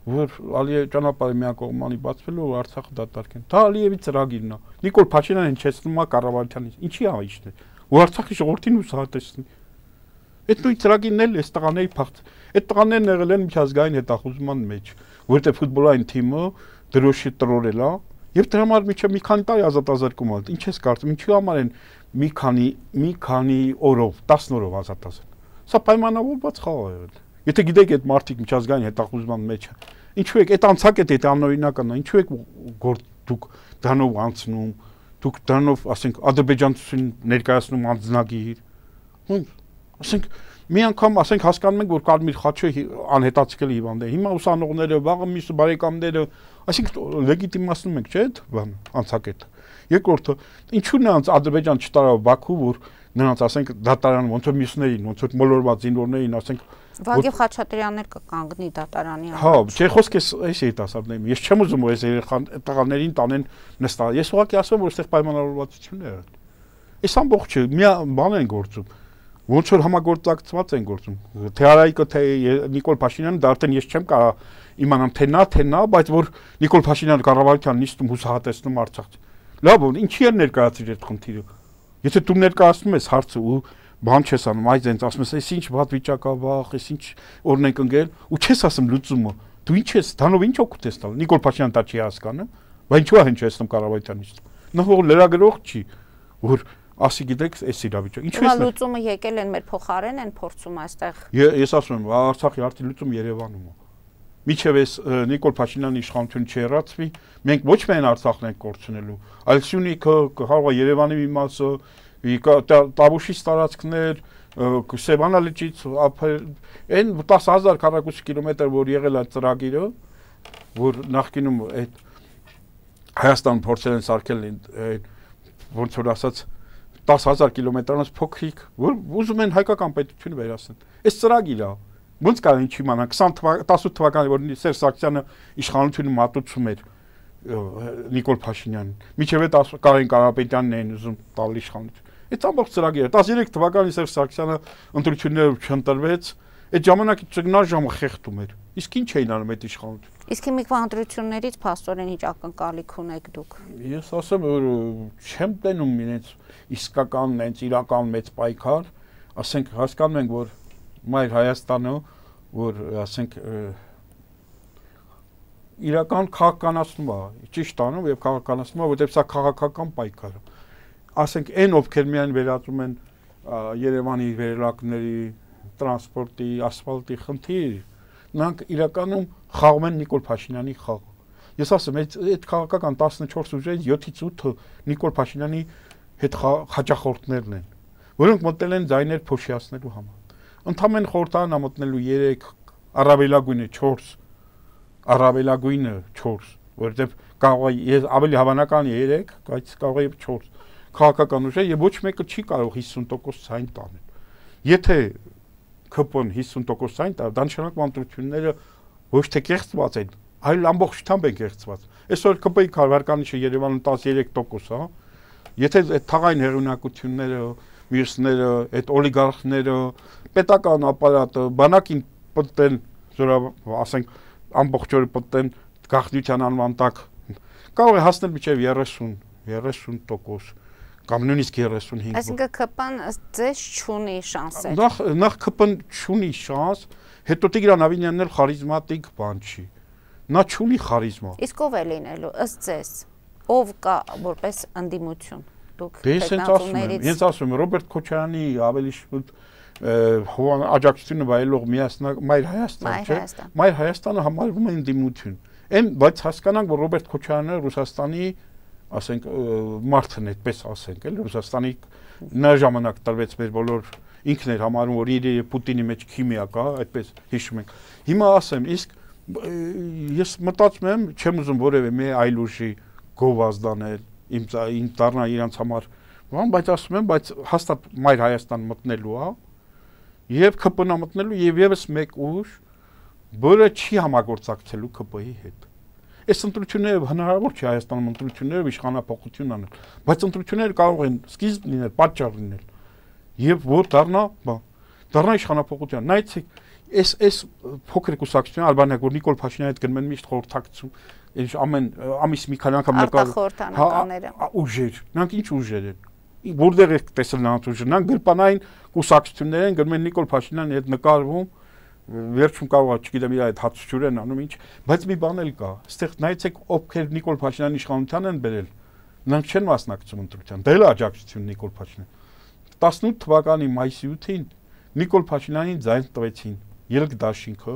որ Ալիևի ճանապարհը միակողմանի բացվելու ու Արցախը դատարկեն։ Դա Ալիևի ծրագիրն է։ Նիկոլ Փաշինյանը հնչեցնում է Կառավարությանից։ Ինչի է իջնել։ Ու Արցախի ժողովրդին հուսահատեցնի։ Այդ նույն ծրագիրն էլ էս տղաների փախտ։ Այդ տղաներն եղել են միջազգային հետախուզման մեջ, որովհետև ֆուտբոլային թիմը դրոշի տրորել է, եւ դրա համար միջը մի քանի տարի ազատազրկում ալ։ Ինչ ես կարծում, ինչի համար են մի քանի մի քանի օրով, տասը օրով ազատազրկ։ Սա պայմանավորված խաղ է եղել։ Եթե գիտեք այդ մարդիկ միջազգային հետախուզման մեջ է, ինչու եք այդ անցակ է դա անօրինական է, ինչու եք գործ դուք դրանով անցնում, դուք դրանով, ասենք, ադրբեջանցին ներկայացնում անձնագիր։ Ասենք մի անգամ ասենք հասկանում ենք, որ Կարմիր խաչը անհետացկել հիվանդ է։ Հիմա ուսանողները, վաղը մյուս բարեկամները, այսինքն լեգիտիմացնում ենք, չէ՞, բան, անցակետը։ Երկրորդը, ինչու նրանց Ադրբեջան չտարավ Բաքու, որ նրանց ասենք դատարան ոնց որ մյուսներին, ոնց որ մոլորված զինվորներին, ասենք
Վագիվ Խաչատրյանն էլ կկանգնի դատարանի
առաջ։ Հա, չէ, խոսք է այս երիտասարդներին։ Ես չեմ ուզում որ այս երեխան տղաներին տանեն նստալ։ Ես ուղղակի ասում որ այստեղ պայմանավորվածություն է եղել։ Այս ամբողջը մի բան են գործում։ Ոնց որ համագործակցված են գործում։ Թե Արայիկը, թե Նիկոլ Փաշինյանը, դա արդեն ես չեմ կարող իմանամ թե նա, թե նա, բայց որ Նիկոլ Փաշինյանը կառավարության նիստում հուսահատեցնում Արցախ։ Լավ, ինչի է ներկայացրել այդ խնդիրը։ Եթե դու ներկայացնում ես հարցը ու բան չես անում, այ ձենց ասում ես, այս ինչ վատ վիճակ է, վախ, այս ինչ օրն ենք ընկել, ու չես ասում լուծումը։ Դու ինչ ես, դրանով ինչ օգուտ ես տալ։ Նիկոլ Փաշինյանը դա չի հասկանում, բայց ինչու է հնչեցնում կառավարության նիստում։ Նա որ լրագրող չի, որ ասի գիտեք, այս իրավիճակը։ Ինչու է
լուծումը եկել են մեր փոխարեն են փորձում այստեղ։
Ես ասում եմ, Արցախի արդի լուծում Երևանում է։ Միջև էս Նիկոլ Փաշինյանի իշխանությունը չհեռացվի, մենք ոչ միայն Արցախն ենք կորցնելու, այլ Սյունիքը, կարող է Երևանի մի մասը, Տավուշից տարածքներ, Սևանա լճից, այն տասը հազար քառակուսի կիլոմետր, որ եղել է ծրագիրը, որ նախկինում այդ Հայաստան փորձել են սարքել ոնց որ ասած տասը հազար կիլոմետրանոց փոքրիկ, որ ուզում են հայկական պետությունը վերացնել։ Այս ծրագիրը ոնց կարող ինչ իմանալ տասը թվականի որ Սերժ Սարգսյանը իշխանությունը մատուցում էր Նիկոլ Փաշինյանին, միջև այդ Կարեն Կարապետյանն էին ուզում տալ իշխանություն։ Այդ ամբողջ ծրագիրը տասներեք թվականին Սերժ Սարգսյանը ընտրություններով չընտրվեց, այդ ժամանակի ճգնաժամը ժամը խեղդում էր։ Իսկ ինչ էին անում այդ իշխանությունը։
Իսկ հիմիկվա ընտրություններից փաստորեն ինչ ակնկալիք ունեք դուք։
Ես ասեմ, որ չեմ տենում իրենց իսկական, հենց իրական մեծ պայքար, ասենք հասկանում ենք, որ մայր Հայաստանը, որ ասենք իրական քաղաքականացնում է, ճիշտ անում եւ քաղաքականացնում է, որտեղ սա քաղաքական պայքար է։ ասենք այն ովքեր միայն վերածում են Երևանի վերելակների, տրանսպորտի, ասֆալտի խնդիր, նրանք իրականում խաղում են Նիկոլ Փաշինյանի խաղ։ Ես ասեմ, այդ քաղաքական տասնչորս ուժերից յոթից ութը Նիկոլ Փաշինյանի հետ հաճախորդներն են, որոնք մտել են ձայներ փոշիացնելու համար։ Ընդամենը խորհրդարան է մտնելու երեք, առավելագույնը չորս, առավելագույնը չորս, որովհետև կարող է ավելի հավանական երեք, բայց կարող է չորս քաղաքական ուժեր եւ ոչ մեկը չի կարող հիսուն տոկոս ցայն տանել։ Եթե K P N հիսուն տոկոս ցայն տա, դա նշանակում ընտրությունները ոչ թե կեղծված են, այլ ամբողջությամբ են կեղծված։ Այսօր K P-ի քարվարկանիշը Երևանում տասներեք տոկոս է։ Եթե այդ թաղային հեղինակությունները, մյուսները, այդ օլիգարխները, պետական ապարատը, բանակին պատեն, ասենք, ամբողջ օրը պատեն գաղտնիության անվան տակ, կարող է հասնել մինչև երեսուն, երեսուն տոկոս կամ նույնիսկ երեսունհինգ։
Այսինքն K P-ն ձեզ չունի շանսեր։
Նախ նախ K P-ն չունի շանս, հետո Տիգրան Ավինյանն էլ խարիզմատիկ բան չի։ Նա չունի խարիզմա։
Իսկ ով է լինելու ըստ ձեզ։ Ով կա որպես ընդդիմություն։ Դուք
հետնացումներից։ Ես ասում եմ Ռոբերտ Քոչարյանի ավելի շուտ աջակցությունը վայելող միասնակ Մայր Հայաստան, չէ՞։ Մայր Հայաստանը համարվում է ընդդիմություն։ Այն բայց հասկանանք, որ Ռոբերտ Քոչարյանը Ռուսաստանի, ասենք, մարդն է, այդպես ասենք, էլ Ռուսաստանի նա ժամանակ տրվեց մեր բոլոր ինքն էր համարում, որ իր եւ Պուտինի մեջ քիմիա կա, այդպես հիշում ենք։ Հիմա ասեմ, իսկ ես մտածում եմ, չեմ ուզում որևէ մի այլ ուժի գովազդանել, իմ իմ դառնա իրանց համար, բայց ասում եմ, բայց հաստատ Մայր Հայաստան մտնելու է, եւ K P-ն մտնելու եւ եւս մեկ ուժ, որը չի համագործակցելու K P-ի հետ։ Այս ընտրությունները հնարավոր չի Հայաստանում ընտրությունները իշխանապողություն անել, բայց ընտրությունները կարող են սկիզբ լինել, պատճառ լինել եւ որ դառնա, բա, դառնա իշխանապողություն։ Նայեցեք, այս այս փոքր կուսակցությունը Ալբանիա, որ Նիկոլ Փաշինյանի հետ գնում են միշտ խորհրդակցում, այս ամեն ամիս մի քանի անգամ
նկարահանները,
ուժեր, նրանք ինչ ուժեր են։ Որտեղ եք տեսել նրանց ուժը, նրանք գրպանային կուսակցություններ են, գնում են Նիկոլ Փաշինյանի հետ նկարվում, վերջում կարող է, չգիտեմ, իր այդ հացչուր են անում ինչ, բայց մի բան էլ կա, այստեղ նայեցեք ովքեր Նիկոլ Փաշինյանի իշխանության են բերել, նրանք չեն մասնակցում ընտրության, դա էլ աջակցություն Նիկոլ Փաշինյան։ տասնութ թվականի մայիսի ութին Նիկոլ Փաշինյանին ձայն տվեցին Ելք դաշինքը,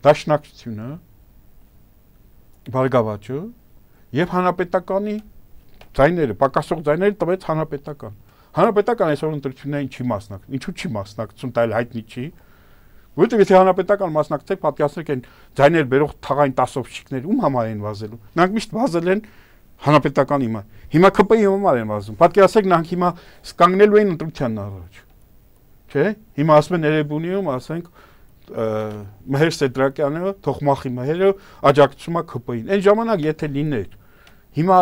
Դաշնակցությունը, Բարգավաճը եւ Հանրապետականի ձայները, պակասող ձայները տվեց Հանրապետական։ Հանրապետական այսօր ընտրություններին չի մասնակցում, ինչու չի մասնակցում, դա էլ հայտնի չի։ Որովհետև եթե Հանրապետական մասնակցեք, պատկերացրեք այն ձայներ բերող թաղային տասովщикներ ում համար են վազելու։ Նրանք միշտ վազել են Հանրապետականի հիմա։ Հիմա K P-ի համար են վազում։ Պատկերացրեք նրանք հիմա կանգնելու են ընտրությանն առաջ։ Չէ՞։ Հիմա ասում են Էրեբունիում, ասենք Մհեր Սեդրակյանը, Թոխմախի Մհերը աջակցում է K P-ին։ Այն ժամանակ եթե լիներ, հիմա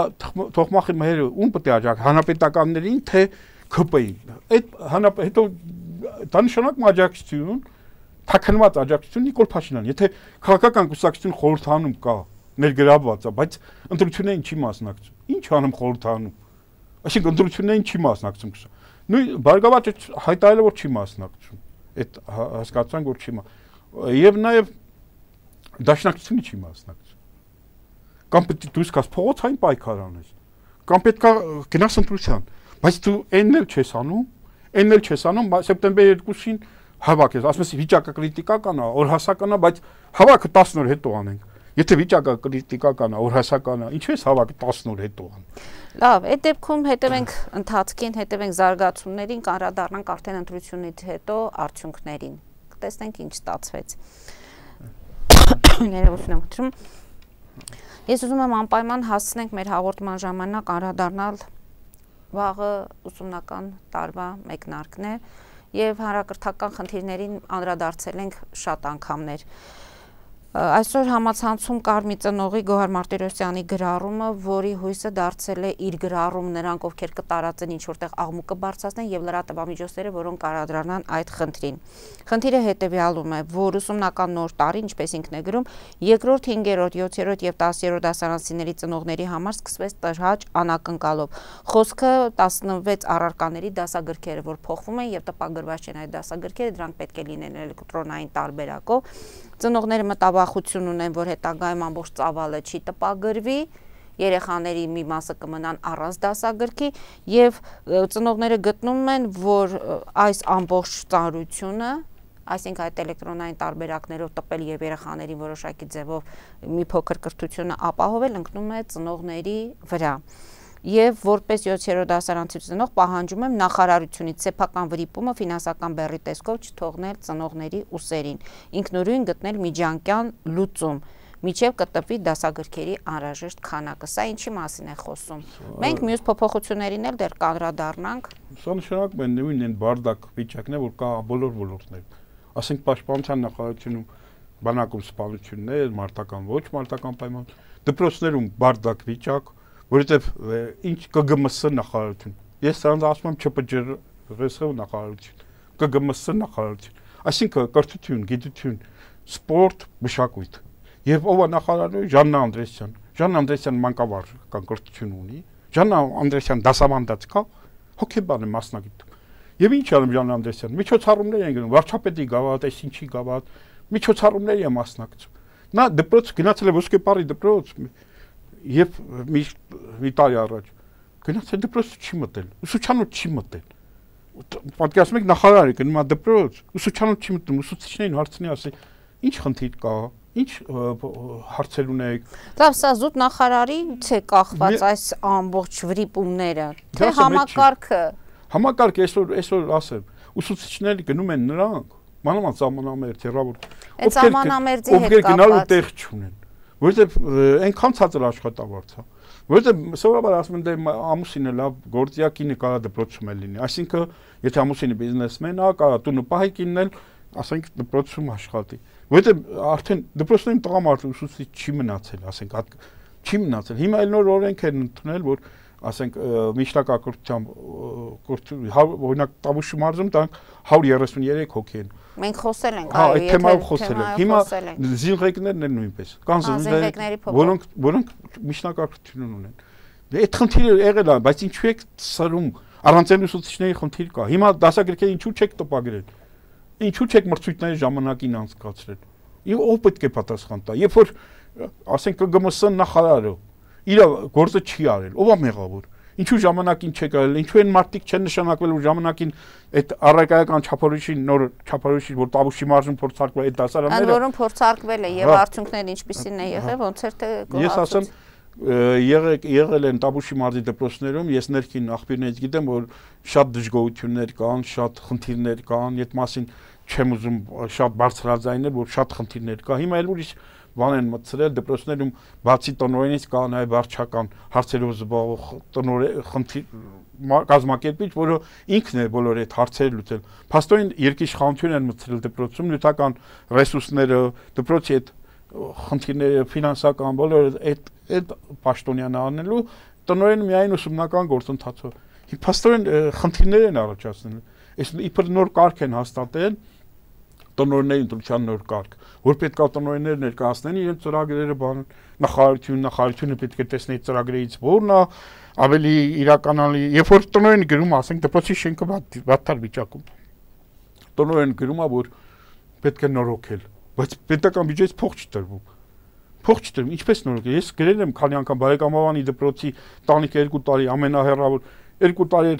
Թոխմախի Մհերը ում պետք է աջակցի, հանրապետականներին թե K P-ին։ Այդ հետո դա նշանակում աջակցություն, թաքնված աջակցություն Նիկոլ Փաշինյան։ Եթե քաղաքական կուսակցություն խորհրդանում կա, ներգրավված է, բայց ընտրություններին չի մասնակցում։ Ինչ անում խորհրդանում։ Այսինքն ընտրություններին չի մասնակցում։ Նույն Բարգավաճը հայտարարել է, որ չի մասնակցում։ Այդ հասկացանք, որ չի մա։ Եվ նաև Դաշնակցությունը չի մասնակցում։ Կամ պետք է դուրս գաս փողոցային պայքար անես։ Կամ պետք է գնաս ընտրության։ Բայց դու այնն էլ չես անում, այնն էլ չես անում, սեպտեմբեր երկուսին հավաքես, ասում ես վիճակը կրիտիկական է, օրհասական է, բայց հավաքը տասն օր հետո անենք։ Եթե վիճակը կրիտիկական է, օրհասական է, ինչու՞ ես հավաքը տասն օր հետո անում։
Լավ, այդ դեպքում հետևենք ընթացքին, հետևենք զարգացումներին, կանրադառնանք արդեն ընտրությունից հետո արդյունքներին։ Կտեսնենք ինչ ստացվեց։ Ներողություն եմ խնդրում։ Ես ուզում եմ անպայման հասցնենք մեր հաղորդման ժամանակ անդրադառնալ վաղը ուսումնական տարվա մեկնարկն է եւ հանրակրթական խնդիրներին անդրադարձել ենք շատ անգամներ։ Այսօր համացանցում կար մի ծնողի Գոհար Մարտիրոսյանի գրառումը, որի հույսը դարձել է իր գրառում նրանք, ովքեր կտարածեն ինչ որտեղ աղմուկը բարձրացնեն եւ լրատվամիջոցները, որոնք անդրադառնան այդ խնդրին։ Խնդիրը հետեւյալում է, որ ուսումնական նոր տարի, ինչպես ինքն է գրում, երկրորդ, հինգերորդ, յոթերորդ եւ տասերորդ դասարանցիների ծնողների համար սկսվեց տհաճ անակնկալով։ Խոսքը տասնվեց առարկաների դասագրքերը, որ փոխվում են եւ տպագրված չեն այդ դասագրքերը, դրանք պետք է լինեն էլեկտրոնային տարբերակով։ Ծնողները մտավախություն ունեն, որ հետագայում ամբողջ ծավալը չի տպագրվի երեխաների մի մասը կմնան առանց դասագրքի եւ ծնողները գտնում են, որ այս ամբողջ ծանրությունը, այսինքն այդ էլեկտրոնային տարբերակներով տպել եւ երեխաներին որոշակի ձևով մի փոքր կրթությունը ապահովել, ընկնում է ծնողների վրա։ Եվ որպես յոթերորդ դասարանցի ծնող պահանջում եմ նախարարությունից սեփական վրիպումը ֆինանսական բեռի տեսքով չթողնել ծնողների ուսերին, ինքնուրույն գտնել միջանկյան լուծում, միջև կտպվի դասագրքերի անհրաժեշտ քանակը։ Սա ինչի մասին է խոսում։ Մենք մյուս փոփոխություններին էլ դեռ կանդրադառնանք։
Սա նշանակում է նույն այն բարդակ վիճակն է, որ կա բոլոր ոլորտներում։ Ասենք պաշտպանության նախարարությունում բանակում սպանություններ, մարտական ոչ մարտական պայման, դպրոցներում բարդակ վիճակ, որովհետև ինչ ԿԳՄՍ նախարարություն։ Ես սրանց ասում եմ ՉՊՃ նախարարություն, ԿԳՄՍ նախարարություն, այսինքն կրթություն, գիտություն, սպորտ, մշակույթ։ Եվ ով է նախարարը Ժաննա Անդրեսյան։ Ժաննա Անդրեսյան մանկավարժական կրթություն ունի։ Ժաննա Անդրեսյան դասավանդած կա, հոգեբան է մասնագետ։ Եվ ինչ անում Ժաննա Անդրեսյան։ Միջոցառումներ են գնում, վարչապետի գավաթ, այսինչի գավաթ, միջոցառումների է մասնակցում։ Նա դպրոց գնացել է Ոսկեպարի դպրոց եւ մի մի տարի առաջ գնացել դպրոց չի մտել, ուսուցչանոց չի մտել։ Պատկերացնում եք նախարարը գնում է դպրոց, ուսուցչանոց չի մտնում, ուսուցիչներին հարցնի, ասի, ինչ խնդիր կա, ինչ հարցեր ունեք։
Լավ, սա զուտ նախարարից է կախված այս ամբողջ վրիպումները, թե համակարգը։
Համակարգը այսօր այսօր ասեմ, ուսուցիչները գնում են նրանք, մանավանդ սահմանամերձ հեռավոր, ովքեր գնալու տեղ չունեն, որովհետև այնքան ցածր աշխատավարձ է, որովհետև սովորաբար ասում են դե ամուսինը լավ գործիակինը կարա դպրոցում է լինի, այսինքն եթե ամուսինը բիզնեսմեն է, կարա տունը պահի կիննել, ասենք դպրոցում աշխատի, որովհետև արդեն դպրոցներում տղամարդ ուսուցիչ չի մնացել, ասենք չի մնացել։ Հիմա էլ նոր օրենք են ընդունել, որ ասենք միջնակարգությամբ օրինակ Տավուշի մարզում տանք հարյուր երեսուններեք հոգի են։
Մենք խոսել ենք,
այո, այդ թեմայով խոսել ենք։ Հիմա զինղեկներն են նույնպես։ Կան զինղեկներ, որոնք որոնք միջնակարգություն ունեն։ Այդ խնդիրը եղել է, բայց ինչու եք սրում առանցել ուսուցիչների խնդիր կա։ Հիմա դասագրքերը ինչու չեք տպագրել։ Ինչու չեք մրցույթների ժամանակին անցկացրել։ Եվ ով պետք է պատասխան տա։ Երբ որ ասենք ԿԳՄՍ նախարարը իր գործը չի արել, ով է մեղավոր։ Ինչու ժամանակին չեք արել, ինչու են մարդիկ չեն նշանակվել, որ ժամանակին այդ առարկայական չափորոշի նոր չափորոշի, որ Տավուշի մարզում փորձարկվել այդ դասարանները։
Ընդ որում փորձարկվել է եւ արդյունքները ինչպիսին է եղել, ոնց էր թե
ես ասեմ եղել եղել են Տավուշի մարզի դպրոցներում, ես ներքին աղբյուրներից գիտեմ, որ շատ դժգոհություններ կան, շատ խնդիրներ կան, այդ մասին չեմ ուզում շատ բարձրաձայնել, որ շատ խնդիրներ կա։ Հիմա էլ ուրիշ բան են մտցրել դպրոցներում, բացի տնօրենից կա նաև վարչական հարցերով զբաղվող տնօրեն խնդիր կազմակերպիչ, որը ինքն է բոլոր այդ հարցերը լուծել։ Փաստորեն երկիշխանություն են մտցրել դպրոցում, նյութական ռեսուրսները, դպրոցի այդ խնդիրները, ֆինանսական բոլորը այդ այդ պաշտոնյան անելու տնօրենը միայն ուսումնական գործընթացով։ Փաստորեն խնդիրներ են առաջացնել։ Այս իբր նոր կարգ են հաստատել տնօրենների ընտրության նոր կարգ, որ պետք է տնօրենները ներկայացնեն իրենց ծրագրերը, բան նախարարություն, նախարարությունը պետք է տեսնի ծրագրերից որն է ավելի իրականալի, երբ որ տնօրենը գրում, ասենք դպրոցի շենքը վատթար վիճակում։ Տնօրենը գրում է, որ պետք է նորոգել, բայց պետական բյուջեից փող չտրվում։ Փող չտրվում, ինչպես նորոգել։ Ես գրել եմ քանի անգամ Բարեկամովանի դպրոցի տանիքը երկու տարի ամենահեռավոր երկու տարի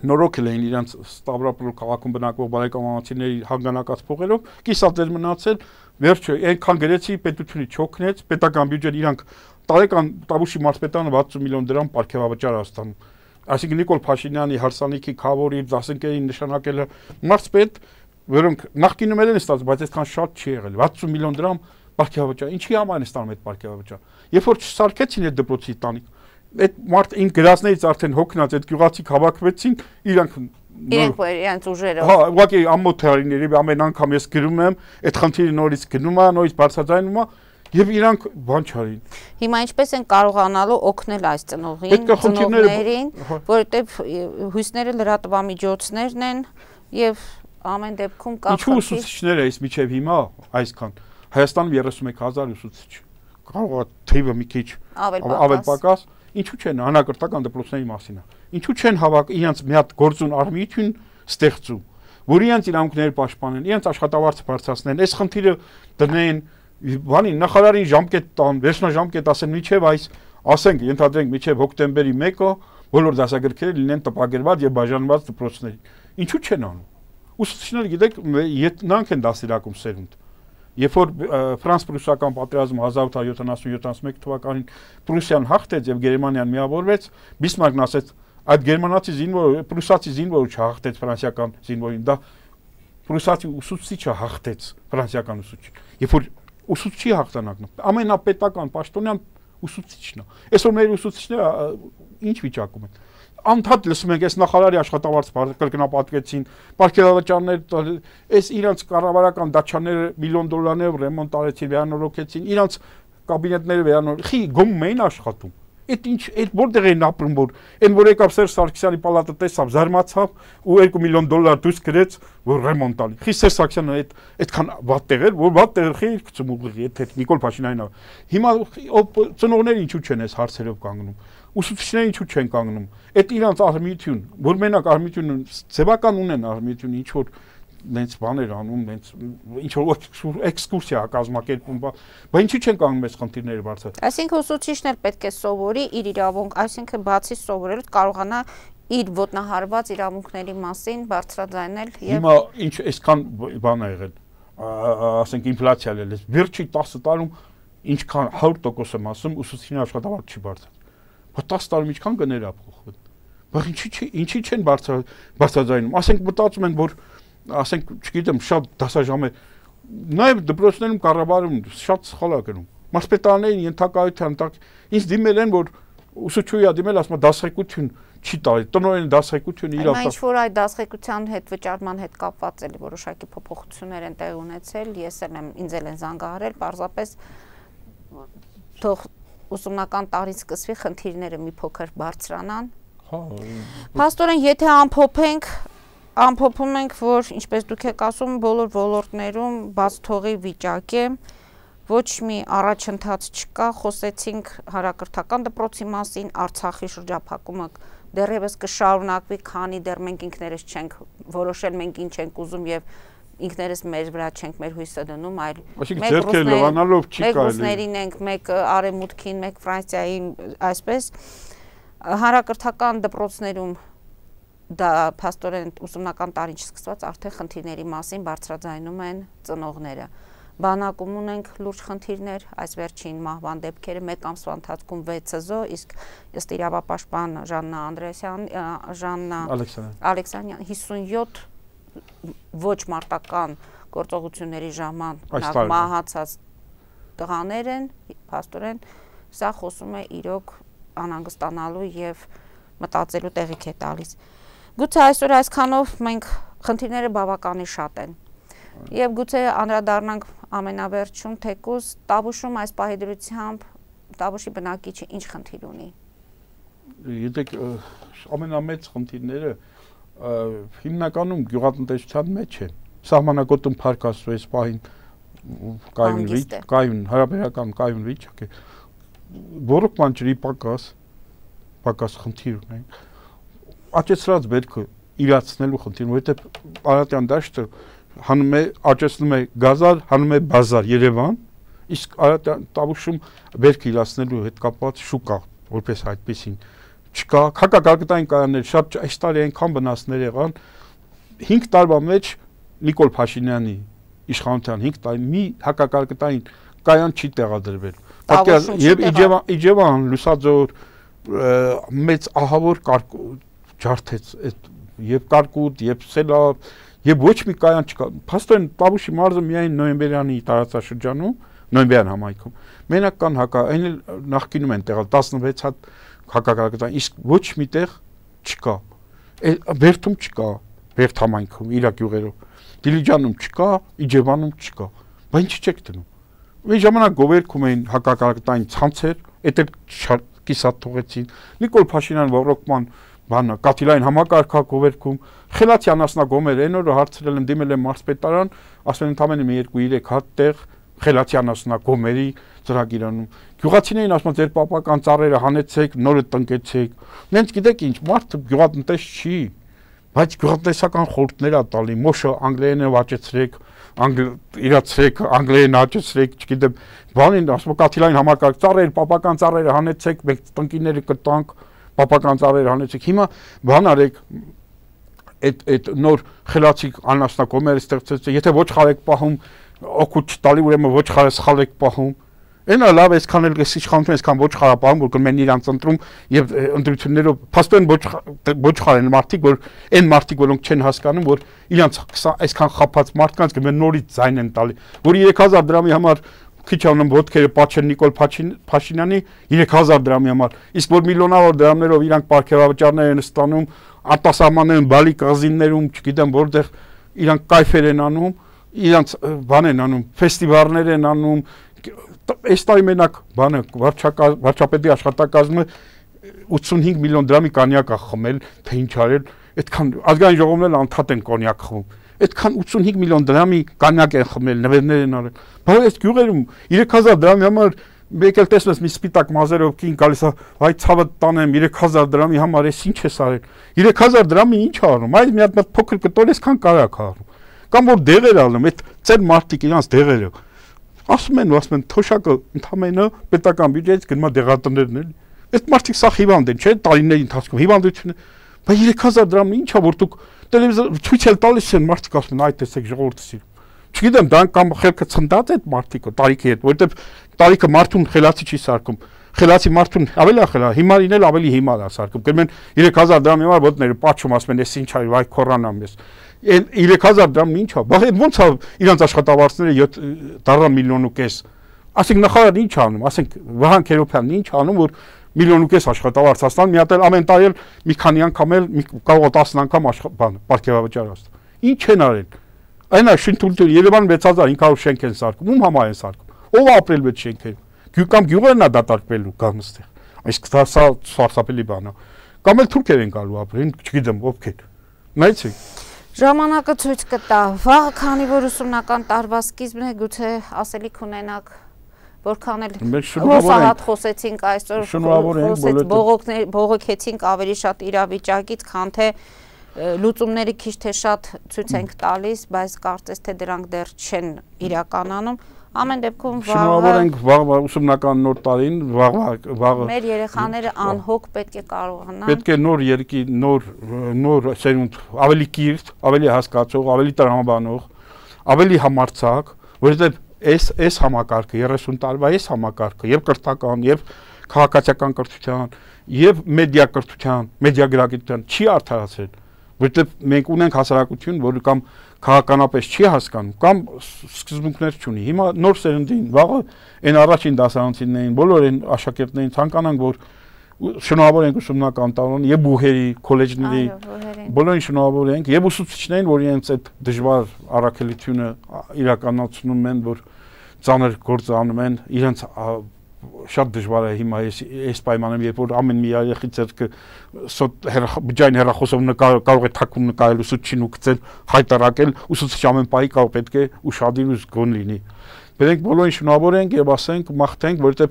նորոգել էին իրենց Ստավրոպոլ քաղաքում բնակվող բարեկամացիների հանգանակած փողերով, կիսատեր մնացել, վերջը այնքան գրեցի պետությունից չօգնեց, պետական բյուջեն իրանք տարեկան Տավուշի մարզպետարանը վաթսուն միլիոն դրամ պարգևավճար է ստանում։ Այսինքն Նիկոլ Փաշինյանի հարսանիքի քավոր իր դասընկերին նշանակել է մարզպետ, որոնք նախկինում են ստացել, բայց այդքան շատ չի եղել, վաթսուն միլիոն դրամ պարգևավճար։ Ինչի համար են ստանում այդ պարգևավճար։ Երբ որ չսարքեցին այդ դպրոցի տանիք, այդ մարդ ին գրածներից արդեն հոգնած այդ գյուղացիք հավաքվեցին, իրանք
իրենք որ իրենց ուժերով։
Հա, ուղղակի ամոթ հարիների ամեն անգամ ես գրում եմ, այդ խնդիրը նորից գնում է, նորից բարձրաձայնում է, եւ իրանք բան չարին։
Հիմա ինչպես են կարողանալու օգնել այս ծնողին, ծնողներին, որովհետեւ հույսները լրատվամիջոցներն են եւ ամեն դեպքում կա
խնդիր։ Ինչու ուսուցիչները այս միջև հիմա այսքան Հայաստանում երեսուն մեկ հազար ուսուցիչ, կարող է թիվը մի քիչ ավել պակաս, ինչու չեն հանրակրթական դպրոցների մասին է։ Ինչու չեն հավաք իրենց մի հատ գործուն արմիություն ստեղծում, որ իրենց իրավունքները պաշտպանեն, իրենց աշխատավարձը բարձրացնեն, այս խնդիրը դնեն, բանի նախարարին ժամկետ տան, վերջնաժամկետ ասեն, միջև այս ասենք ենթադրենք մինչև հոկտեմբերի մեկը բոլոր դասագրքերը լինեն տպագրված եւ բաժանված դպրոցների։ Ինչու չեն անում։ Ուսուցիչները գիտեք, նրանք են դասերակում սերունդ։ Երբ որ ֆրանս-պրուսական պատերազմը հազար ութ հարյուր յոթանասուն յոթանասուն մեկ թվականին Պրուսիան հաղթեց եւ Գերմանիան միավորվեց, Բիսմարկն ասեց, այդ գերմանացի զինվորը, պրուսացի զինվորը չհաղթեց ֆրանսիական զինվորին, դա պրուսացի ուսուցիչը հաղթեց ֆրանսիական ուսուցիչին։ Երբ որ ուսուցչի հաղթանակն է, ամենապետական պաշտոնյան ուսուցիչն է։ Այսօր մեր ուսուցիչները ինչ վիճակում են։ Անդադ լսում ենք, այս նախարարի աշխատավարձ կրկնապատկեցին, պարգևավճարներ, այս իրանց կառավարական դաշաները միլիոն դոլարներով ռեմոնտ արեցին, վերանորոգեցին, իրանց կաբինետները վերանոր, խի գոմում էին աշխատում։ Այդ ինչ, այդ որտեղ էին ապրում, որ այն որ եկավ Սերժ Սարգսյանի պալատը տեսավ, զարմացավ ու երկու միլիոն դոլար դուրս գրեց, որ ռեմոնտ ալի։ Խի Սերժ Սարգսյանը այդ այդքան վատ տեղ էր, որ վատ տեղ խի գցում ուղիղ, եթե Նիկոլ Փաշինյանն է։ Հիմա ծնողները ինչու չեն այս հարցերով կանգնում։ Ուսուցիչները ինչու չեն կանգնում։ Այդ իրանց արմիություն, որ մենակ արմիությունը ձևական ունեն արմիությունը, ինչ որ նենց բաներ անում, նենց ինչ որ էքսկուրսիա կազմակերպում, բա ինչի չեն կանգնում այս խնդիրները բարձր։
Այսինքն ուսուցիչն էլ պետք է սովորի իր իրավունք, այսինքն բացի սովորելուց կարողանա իր ոտնահարված իրավունքների մասին բարձրաձայնել եւ
Հիմա ինչ այսքան բան ա եղել, ասենք ինֆլյացիա ել է, վերջի տասը տարում ինչքան հարյուր տոկոս եմ ասում, ուսուցիչների աշխատավարձ չի բարձր։ Բայց տասը տարում ինչքան գներ ա փոխվել։ Բայց ինչի ինչի չեն բարձրաձայնում։ Ասենք մտածում են, որ ասենք, չգիտեմ, շատ դասաժամ է, նաև դպրոցներում կառավարում շատ սխալ է գնում։ Մարզպետարաններին ենթակայության տակ ինձ դիմել են, որ ուսուցչուհի դիմել, ասում է դասղեկություն չի տալի, տնօրենը դասղեկություն իր
Այնա ինչ որ այդ դասղեկության հետ վճարման հետ կապված էլի որոշակի փոփոխություններ են տեղ ունեցել, ես էլ եմ ինձ էլ են զանգահարել, պարզապես թող ուսումնական տարին սկսվի խնդիրները մի փոքր բարձրանան։
Հա։
Փաստորեն, եթե ամփոփենք Ամփոփում ենք, որ ինչպես դուք եք ասում, բոլոր ոլորտներում բաց թողի վիճակ է, ոչ մի առաջընթաց չկա, խոսեցինք հանրակրթական դպրոցի մասին, Արցախի շրջափակումը դեռևս կշարունակվի, քանի դեռ մենք ինքներս չենք որոշել, մենք ինչ ենք ուզում եւ ինքներս մեր վրա չենք մեր հույսը դնում, այլ մեկ ռուսներին ենք, մեկ արևմուտքին, մեկ Ֆրանսիային, այսպես հանրակրթական դպրոցներում դա փաստորեն ուսումնական տարին չսկսված արդեն խնդիրների մասին բարձրաձայնում են ծնողները։ Բանակում ունենք լուրջ խնդիրներ, այս վերջին մահվան դեպքերը մեկ ամսվա ընթացքում վեց զո, իսկ ըստ իրավապաշտպան Ժաննա Անդրեասյան, Ժաննա Ալեքսանյան հիսունյոթ ոչ մարտական գործողությունների ժամանակ մահացած տղաներ են, փաստորեն սա խոսում է իրոք անհանգստանալու եւ մտածելու տեղիք է տալիս։ Գուցե այսօր այսքանով մենք խնդիրները բավականին շատ են եւ գուցե անդրադառնանք ամենավերջում թեկուզ Տավուշում այս պահի դրությամբ Տավուշի բնակիչը ինչ խնդիր ունի։
Գիտեք, ամենամեծ խնդիրները հիմնականում գյուղատնտեսության մեջ են։ Սահմանակոտում փառք Աստծո այս պահին կայուն կայուն հարաբերական կայուն վիճակ է։ Ոռոգման ջրի պակաս պակաս խնդիր ունենք։ Աճեցրած բերքը իրացնելու խնդիրը, որովհետև Արարատյան դաշտը հանում է աճեցնում է գազար, հանում է բազար Երևան, իսկ Արարատյան Տավուշում բերքը իրացնելու հետ կապված շուկա, որպես այդպեսին չկա, հակակարգտային կայաններ շատ այս տարի այնքան վնասներ եղան, հինգ տարվա մեջ Նիկոլ Փաշինյանի իշխանության հինգ տարի մի հակակարգտային կայան չի տեղադրվել։ Եվ Իջևան, Լուսաձոր մեծ ահավոր ջարդեց եւ կարկուտ, եւ սելավ, եւ ոչ մի կայան չկա։ Փաստորեն Տավուշի մարզը միայն նոյեմբերյանի տարածաշրջանում, նոյեմբերյան համայնքում մենակ կան հակա, այն էլ նախկինում են տեղալ տասնվեց հատ հակակարգտային, իսկ ոչ մի տեղ չկա։ Բերդում չկա, Բերդ համայնքում իր գյուղերով, Դիլիջանում չկա, Իջևանում չկա։ Բայց ինչի՞ չեք դնում։ Մի ժամանակ գովերքում էին հակակարգտային ցանցեր, էդ էլ կիսատ թողեցին։ Նիկոլ Փաշինյան ոռոգման բանը կաթիլային համակարգակողերքում խելացի անասնագոմեր այն օրը հարցրել եմ դիմել եմ մարզպետարան, ասում են ընդամենը մի երկու երեք հատ տեղ խելացի անասնագոմերի ծրագիրանում։ Գյուղացիներին ասում են ձեր պապական ծառերը հանեցեք, նորը տնկեցեք։ Նենց գիտեք ինչ, մարդը գյուղատնտես չի, բայց գյուղատնտեսական խորհուրդներ ա տալի, մոշը անգլերենով աճեցրեք, իրացրեք, անգլերեն աճեցրեք, չգիտեմ, բանին ասում կաթիլային համակարգ ծառեր, պապական ծառերը հանեցեք, մենք տնկիները կտանք, պապական ծառերը հանեցեք։ Հիմա բան արեք, այդ այդ նոր խելացի անասնակոմերը ստեղծեց, եթե ոչխար եք պահում, օգուտ չտալի, ուրեմն ոչխարը սխալ եք պահում։ Այնա լավ, այսքան էլ էս իշխանությունը այսքան ոչխարապահում, որ կմեն իրանց ընտրում եւ ընտրություններով փաստորեն ոչխար են մարդիկ, որ այն մարդիկ, որոնք չեն հասկանում, որ իրանց այսքան խափած մարդկանց կմեն նորից ձայն են տալի, որ երեք հազար դրամի համար քիչ անեմ ոտքերը Պաչեն Նիկոլ Փաշինյանի երեք հազար դրամի համար, իսկ որ միլիոնավոր դրամներով իրանք պարգևավճարներ են ստանում, արտասահմաններում, բալի կղզիներում, չգիտեմ որտեղ իրանք կայֆեր են անում, իրանք բան են անում, ֆեստիվալներ են անում, այս տարի մենակ բանը վարչապետի աշխատակազմը ութսունհինգ միլիոն դրամի կոնյակ է խմել, թե ինչ արել, այդքան ազգային ժողովն էլ անդադ են կոնյակ խմում, այդքան ութսունհինգ միլիոն դրամի կոնյակ են խմել, նվերներ են արել, բայց այս գյուղերում երեք հազար դրամի համար մեկ էլ տեսնես մի սպիտակ մազերով կին գալիս է, վայ ցավը տանեմ երեք հազար դրամի համար էս ինչ ես արել, երեք հազար դրամի ինչ արում, այս մի հատ փոքր կտոր էսքան կարակ արում, կամ որ դեղեր ալում, այդ ծեր մարդիկ իրանց դեղերը ասում են, ասում են թոշակը ընդամենը պետական բյուջեից գնում է դեղատներն էլի։ Այդ մարդիկ սա հիվանդ են, չէ՞, տարիների ընթացքում հիվանդություն է։ Բայց երեք հազար դրամն ի՞նչ է, որ դուք տելևիզոր ցույց էլ տալիս են, մարդիկ ասում են, այ տեսեք ժողովուրդը սիրում։ Չգիտեմ, դա կամ խելքը ցնդած է այդ մարդիկը տարիքի հետ, որովհետև տարիքը մարդուն խելացի չի սարքում։ Խելացի մարդուն ավելի խելա, հիմարին էլ ավելի հիմար է սարքում։ Գնում երեք հազար դրամի համար ոտները պատճում, ասում են, էս ինչ արի, վայ քորանամ ես։ երեք հազար դրամն ինչ է, բայց ոնց է իրանց աշխատավարձները դառա միլիոն ու կես։ Ասենք նախարարը ինչ անում, ասենք Վահան Քերոբյանն ինչ անում, որ միլիոն ու կես աշխատավարձ հաստան, մի հատ էլ ամեն տարի էլ մի քանի անգամ էլ կարող է տասն անգամ բան պարգևավճար հաստան։ Ինչ են արել։ Այն է շինթույլ Երևան վեց հազար հինգ հարյուր շենք են սարքում, ում համար են սարքում։ Ով ապրել այդ շենքերում։ Կամ գյուղերն է դատարկվելու կամ այստեղ։ Այս դա սարսափելի բան է։ Կամ էլ թուրքեր են գալու ապրեն, չգիտեմ ովքեր։ Նայեցեք։
Ժամանակը ցույց կտա, վաղը քանի որ ուսումնական տարվա սկիզբն է, գուցե ասելիք ունենաք, որքան էլ հուսահատ խոսեցինք այսօր, բողոքեցինք ավելի շատ իրավիճակից, քան թե լուծումները քիչ թե շատ ցույց ենք տալիս, բայց կարծես թե դրանք դեռ չեն իրականանում։ Ամեն դեպքում
շնորհավորենք վաղ ուսումնական նոր տարին, վաղ
մեր երեխաները անհոգ պետք է կարողանան։
Պետք է նոր երկի, նոր նոր սերունդ, ավելի կիրթ, ավելի հասկացող, ավելի տրամաբանող, ավելի համարձակ, որովհետև այս այս համակարգը երեսուն տարվա այս համակարգը եւ կրթական, եւ քաղաքացիական կրթության, եւ մեդիա կրթության, մեդիա գրագիտության չի արդարացել, որովհետև մենք ունենք հասարակություն, որը կամ քաղաքականապես չի հասկանում, կամ սկզբունքներ չունի։ Հիմա նոր սերնդին, վաղը այն առաջին դասարանցիներին, բոլոր այն աշակերտներին ցանկանանք, որ շնորհավորենք ուսումնական տարին եւ բուհերի, քոլեջների, բոլորին շնորհավորենք եւ ուսուցիչներին, որ իրենց այդ դժվար առաքելությունը իրականացնում են, որ ծանր գործ անում են, իրենց շատ դժվար է հիմա այս պայմանում, երբ որ ամեն մի երեխի ձեռքը բջջային հեռախոսով կարող է թաքուն նկարել ուսուցչին ու գցել, հայտարարել, ուսուցիչ ամեն պահի կարող պետք է ուշադիր ու զգոն լինի։ Մենք բոլորին շնորհավորենք եւ ասենք մաղթենք, որովհետեւ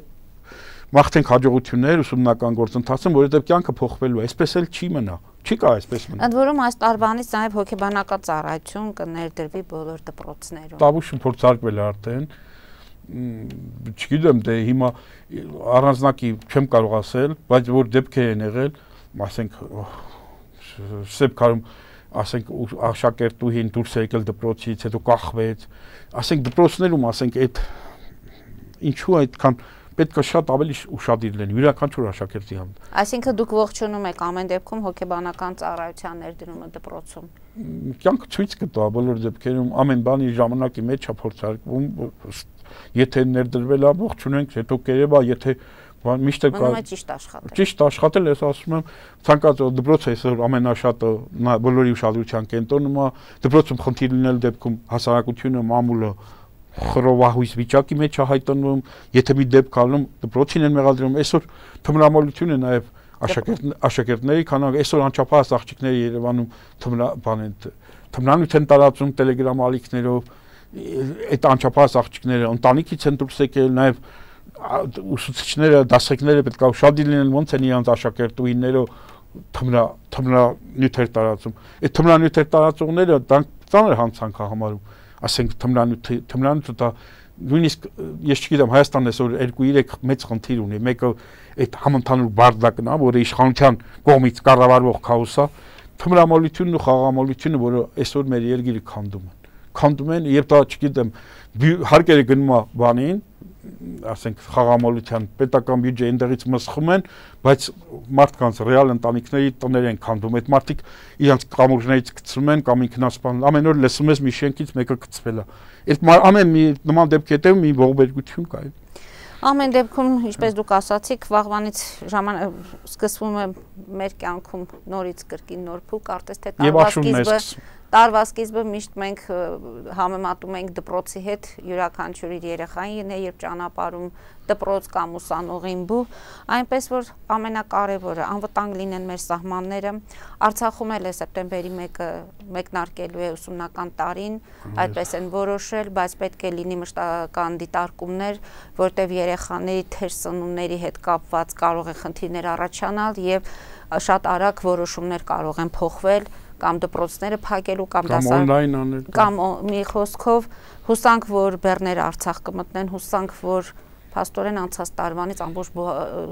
մաղթենք հաջողություններ ուսումնական գործընթացում, որովհետեւ կյանքը փոխվելու է, այսպես էլ չի մնա, չի կա այսպես մնա։
Ընդ որում այս տարվանից նաեւ հոգեբանական ծառայություն կներդրվի բոլոր դպրոցներում։
Տավուշը փորձարկվել է արդեն, չգիտեմ, դե հիմա առանձնակի չեմ կարող ասել, բայց որ դեպքեր են եղել, ասենք Սեփ Քարում, ասենք աշակերտուհին դուրս է եկել դպրոցից, հետո կախվեց, ասենք դպրոցներում, ասենք այդ ինչու այդքան պետք է շատ ավելի ուշադիր լինի յուրաքանչյուր աշակերտի համար։
Այսինքն դուք ողջունում եք ամեն դեպքում հոգեբանական ծառայության ներդրումը դպրոցում։
Կյանքը ցույց կտա բոլոր դեպքերում ամեն բանի ժամանակի մեջ է փորձարկվում, եթե ներդրվել է ողջունենք, հետո կերևա, եթե միշտ է
ճիշտ աշխատել։
Ճիշտ աշխատել, ես ասում եմ, ցանկացած դպրոցը այսօր ամենաշատը բոլորի ուշադրության կենտրոնում է, դպրոցում խնդիր լինել դեպքում հասարակությունը, մամուլը խռովահույս վիճակի մեջ է հայտնվում, եթե մի դեպք ալնում դպրոցին են մեղադրում, այսօր թմրամոլություն է նաև աշակերտների, քանի որ այսօր անչափահաս աղջիկները Երևանում թմրանյութ են տարածում տելեգրամ ալիքներով, այդ անչափահաս աղջիկները ընտանիքից են դուրս եկել, նաև ուսուցիչները, դասերները պետք է ուշադիր լինեն, ոնց են իրանց աշակերտուհիները թմրանյութեր տարածում։ Այդ թմրանյութեր տարածողները դրանք ծանր հանցանք է համարում։ ասենք թմրանյութը դա նույնիսկ ես չգիտեմ Հայաստանն այսօր երկու երեք մեծ խնդիր ունի, մեկը այդ համընդհանուր բարդակն է, որը իշխանության կողմից կառավարվող քաոսը, թմրամոլությունն ու խաղամոլությունը, որը այսօր մեր երկիրը քանդում են, քանդում են, եւ դա չգիտեմ հարկերը գնում է բանին, ասենք խաղամոլության պետական բյուջե այնտեղից մսխում են, բայց մարդկանց ռեալ ընտանիքների տներ են քանդում, այդ մարդիկ իրենց կամուրջներից գցում են կամ ինքնասպան, ամեն օր լսում ես մի շենքից մեկը գցվել է։ Այդ ամեն մի նման դեպքի հետևում մի ողբերգություն կա։
Ամեն դեպքում, ինչպես դուք ասացիք, վաղվանից ժամանակ սկսվում է մեր կյանքում նորից կրկին նոր փուլ, կարծես թե տարվա սկիզբը Տարվա սկիզբը միշտ մենք համեմատում ենք դպրոցի հետ, յուրաքանչյուր իր երեխային է, երբ ճանապարհում դպրոց կամ ուսանողին բու, այնպես որ ամենակարևորը անվտանգ լինեն մեր սահմանները, Արցախում էլ է սեպտեմբերի մեկը մեկնարկելու է ուսումնական տարին, այդպես են որոշել, բայց պետք է լինի մշտական դիտարկումներ, որտեղ երեխաների թեր սնունդների հետ կապված կարող է խնդիրներ առաջանալ եւ շատ արագ որոշումներ կարող են փոխվել կամ դպրոցները փակելու կամ
դասարան
կամ մի խոսքով հուսանք որ բեռները Արցախ կմտնեն, հուսանք որ փաստորեն անցած տարվանից ամբողջ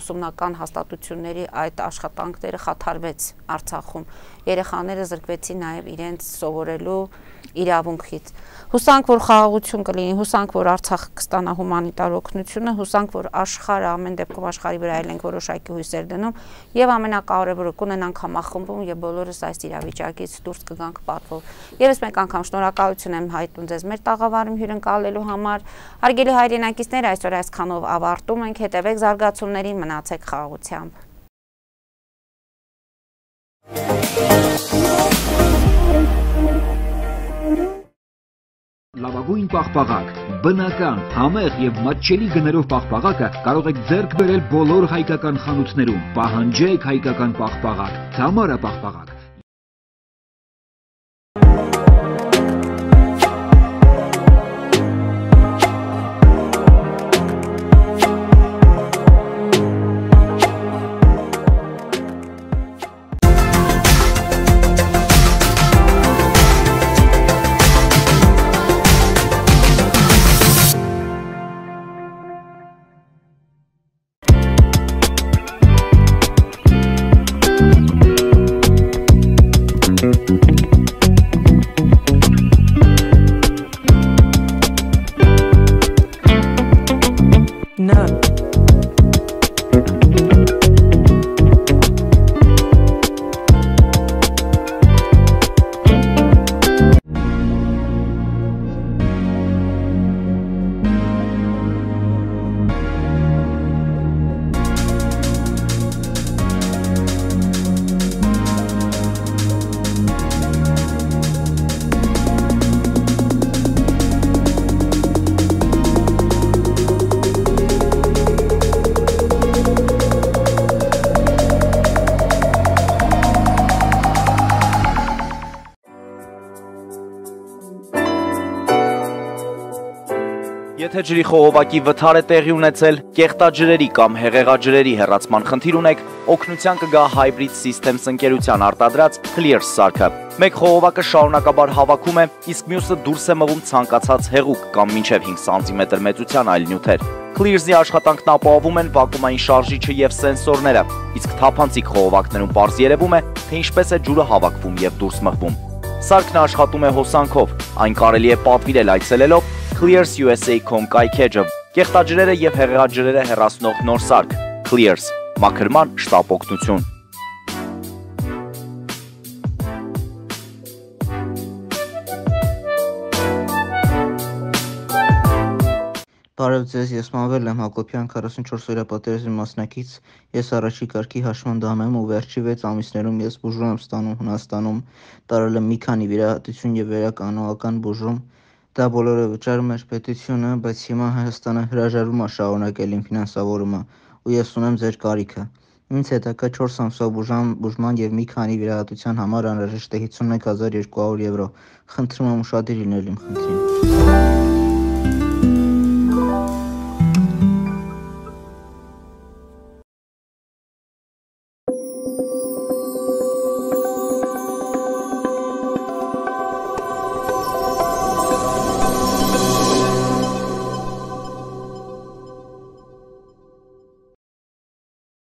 ուսումնական հաստատությունների այդ աշխատանքները խաթարվեց Արցախում, երեխաները զրկվեցին նաև իրենց սովորելու իրավունքից։ Հուսանք որ խաղաղություն կլինի, հուսանք որ Արցախը կստանա հումանիտար օգնությունը, հուսանք որ աշխարհը ամեն դեպքում աշխարհի վրա էլ ենք որոշակի հույսեր դնում եւ ամենակարևորը կունենանք համախմբում եւ բոլորս այս իրավիճակից դուրս կգանք պատվով։ Եվս մեկ անգամ շնորհակալություն եմ հայտնում ձեզ մեր տաղավարում հյուրընկալելու համար։ Հարգելի հայրենակիցներ, այսօր այսքանով ավարտում ենք, հետևեք զարգացումներին, մնացեք խաղաղությամբ։
Լավագույն պաղպաղակ, բնական, համեղ եւ մատչելի գներով պաղպաղակը կարող եք ձեռք բերել բոլոր հայկական խանութներում։ Պահանջեք հայկական պաղպաղակ, Թամարա պաղպաղակ։
Եթե ջրի խողովակի վթար է տեղի ունեցել, կեղտաջրերի կամ հեղեղաջրերի հեռացման խնդիր ունեք, օգնության կգա Hybrid Systems ընկերության արտադրած Clears սարքը։ Մեկ խողովակը շարունակաբար հավաքում է, իսկ մյուսը դուրս է մղում ցանկացած հեղուկ կամ մինչև հինգ սանտիմետր մեծության այլ նյութեր։ Clears-ի աշխատանքն ապահովում են վակուումային շարժիչը եւ սենսորները, իսկ թափանցիկ խողովակներում պարզ երևում է, թե ինչպես է ջուրը հավաքվում եւ դուրս մղվում։ Սարքն աշխատում է հոսանքով, այն կարելի է պատվիրել այցելելով Clears U S A dot com կայքեջը, կեղտաջրերը եւ հեղեղաջրերը հեռացնող նոր սարք, Clears, մաքրման շտապ օգնություն։
Բարև ձեզ, ես Մանվել եմ Հակոբյան, քառասունչորս օրյա պատերազմի մասնակից, ես առաջի կարգի հաշմանդամ եմ ու վերջի վեց ամիսներում ես բուժում եմ ստանում Հունաստանում, տարել եմ մի քանի վիրահատություն եւ վերականոնական բուժում, դա բոլորը վճարում էր պետությունը, բայց հիմա Հայաստանը հրաժարվում է շարունակել իմ ֆինանսավորումը ու ես ունեմ ձեր կարիքը։ Ինձ հետաքրքրում է չորս ամսվա բուժման, բուժման եւ մի քանի վիրահատության համար անհրաժեշտ է հիսունմեկ հազար երկու հարյուր եվրո։ Խնդրում եմ ուշադիր լինել իմ խնդրին։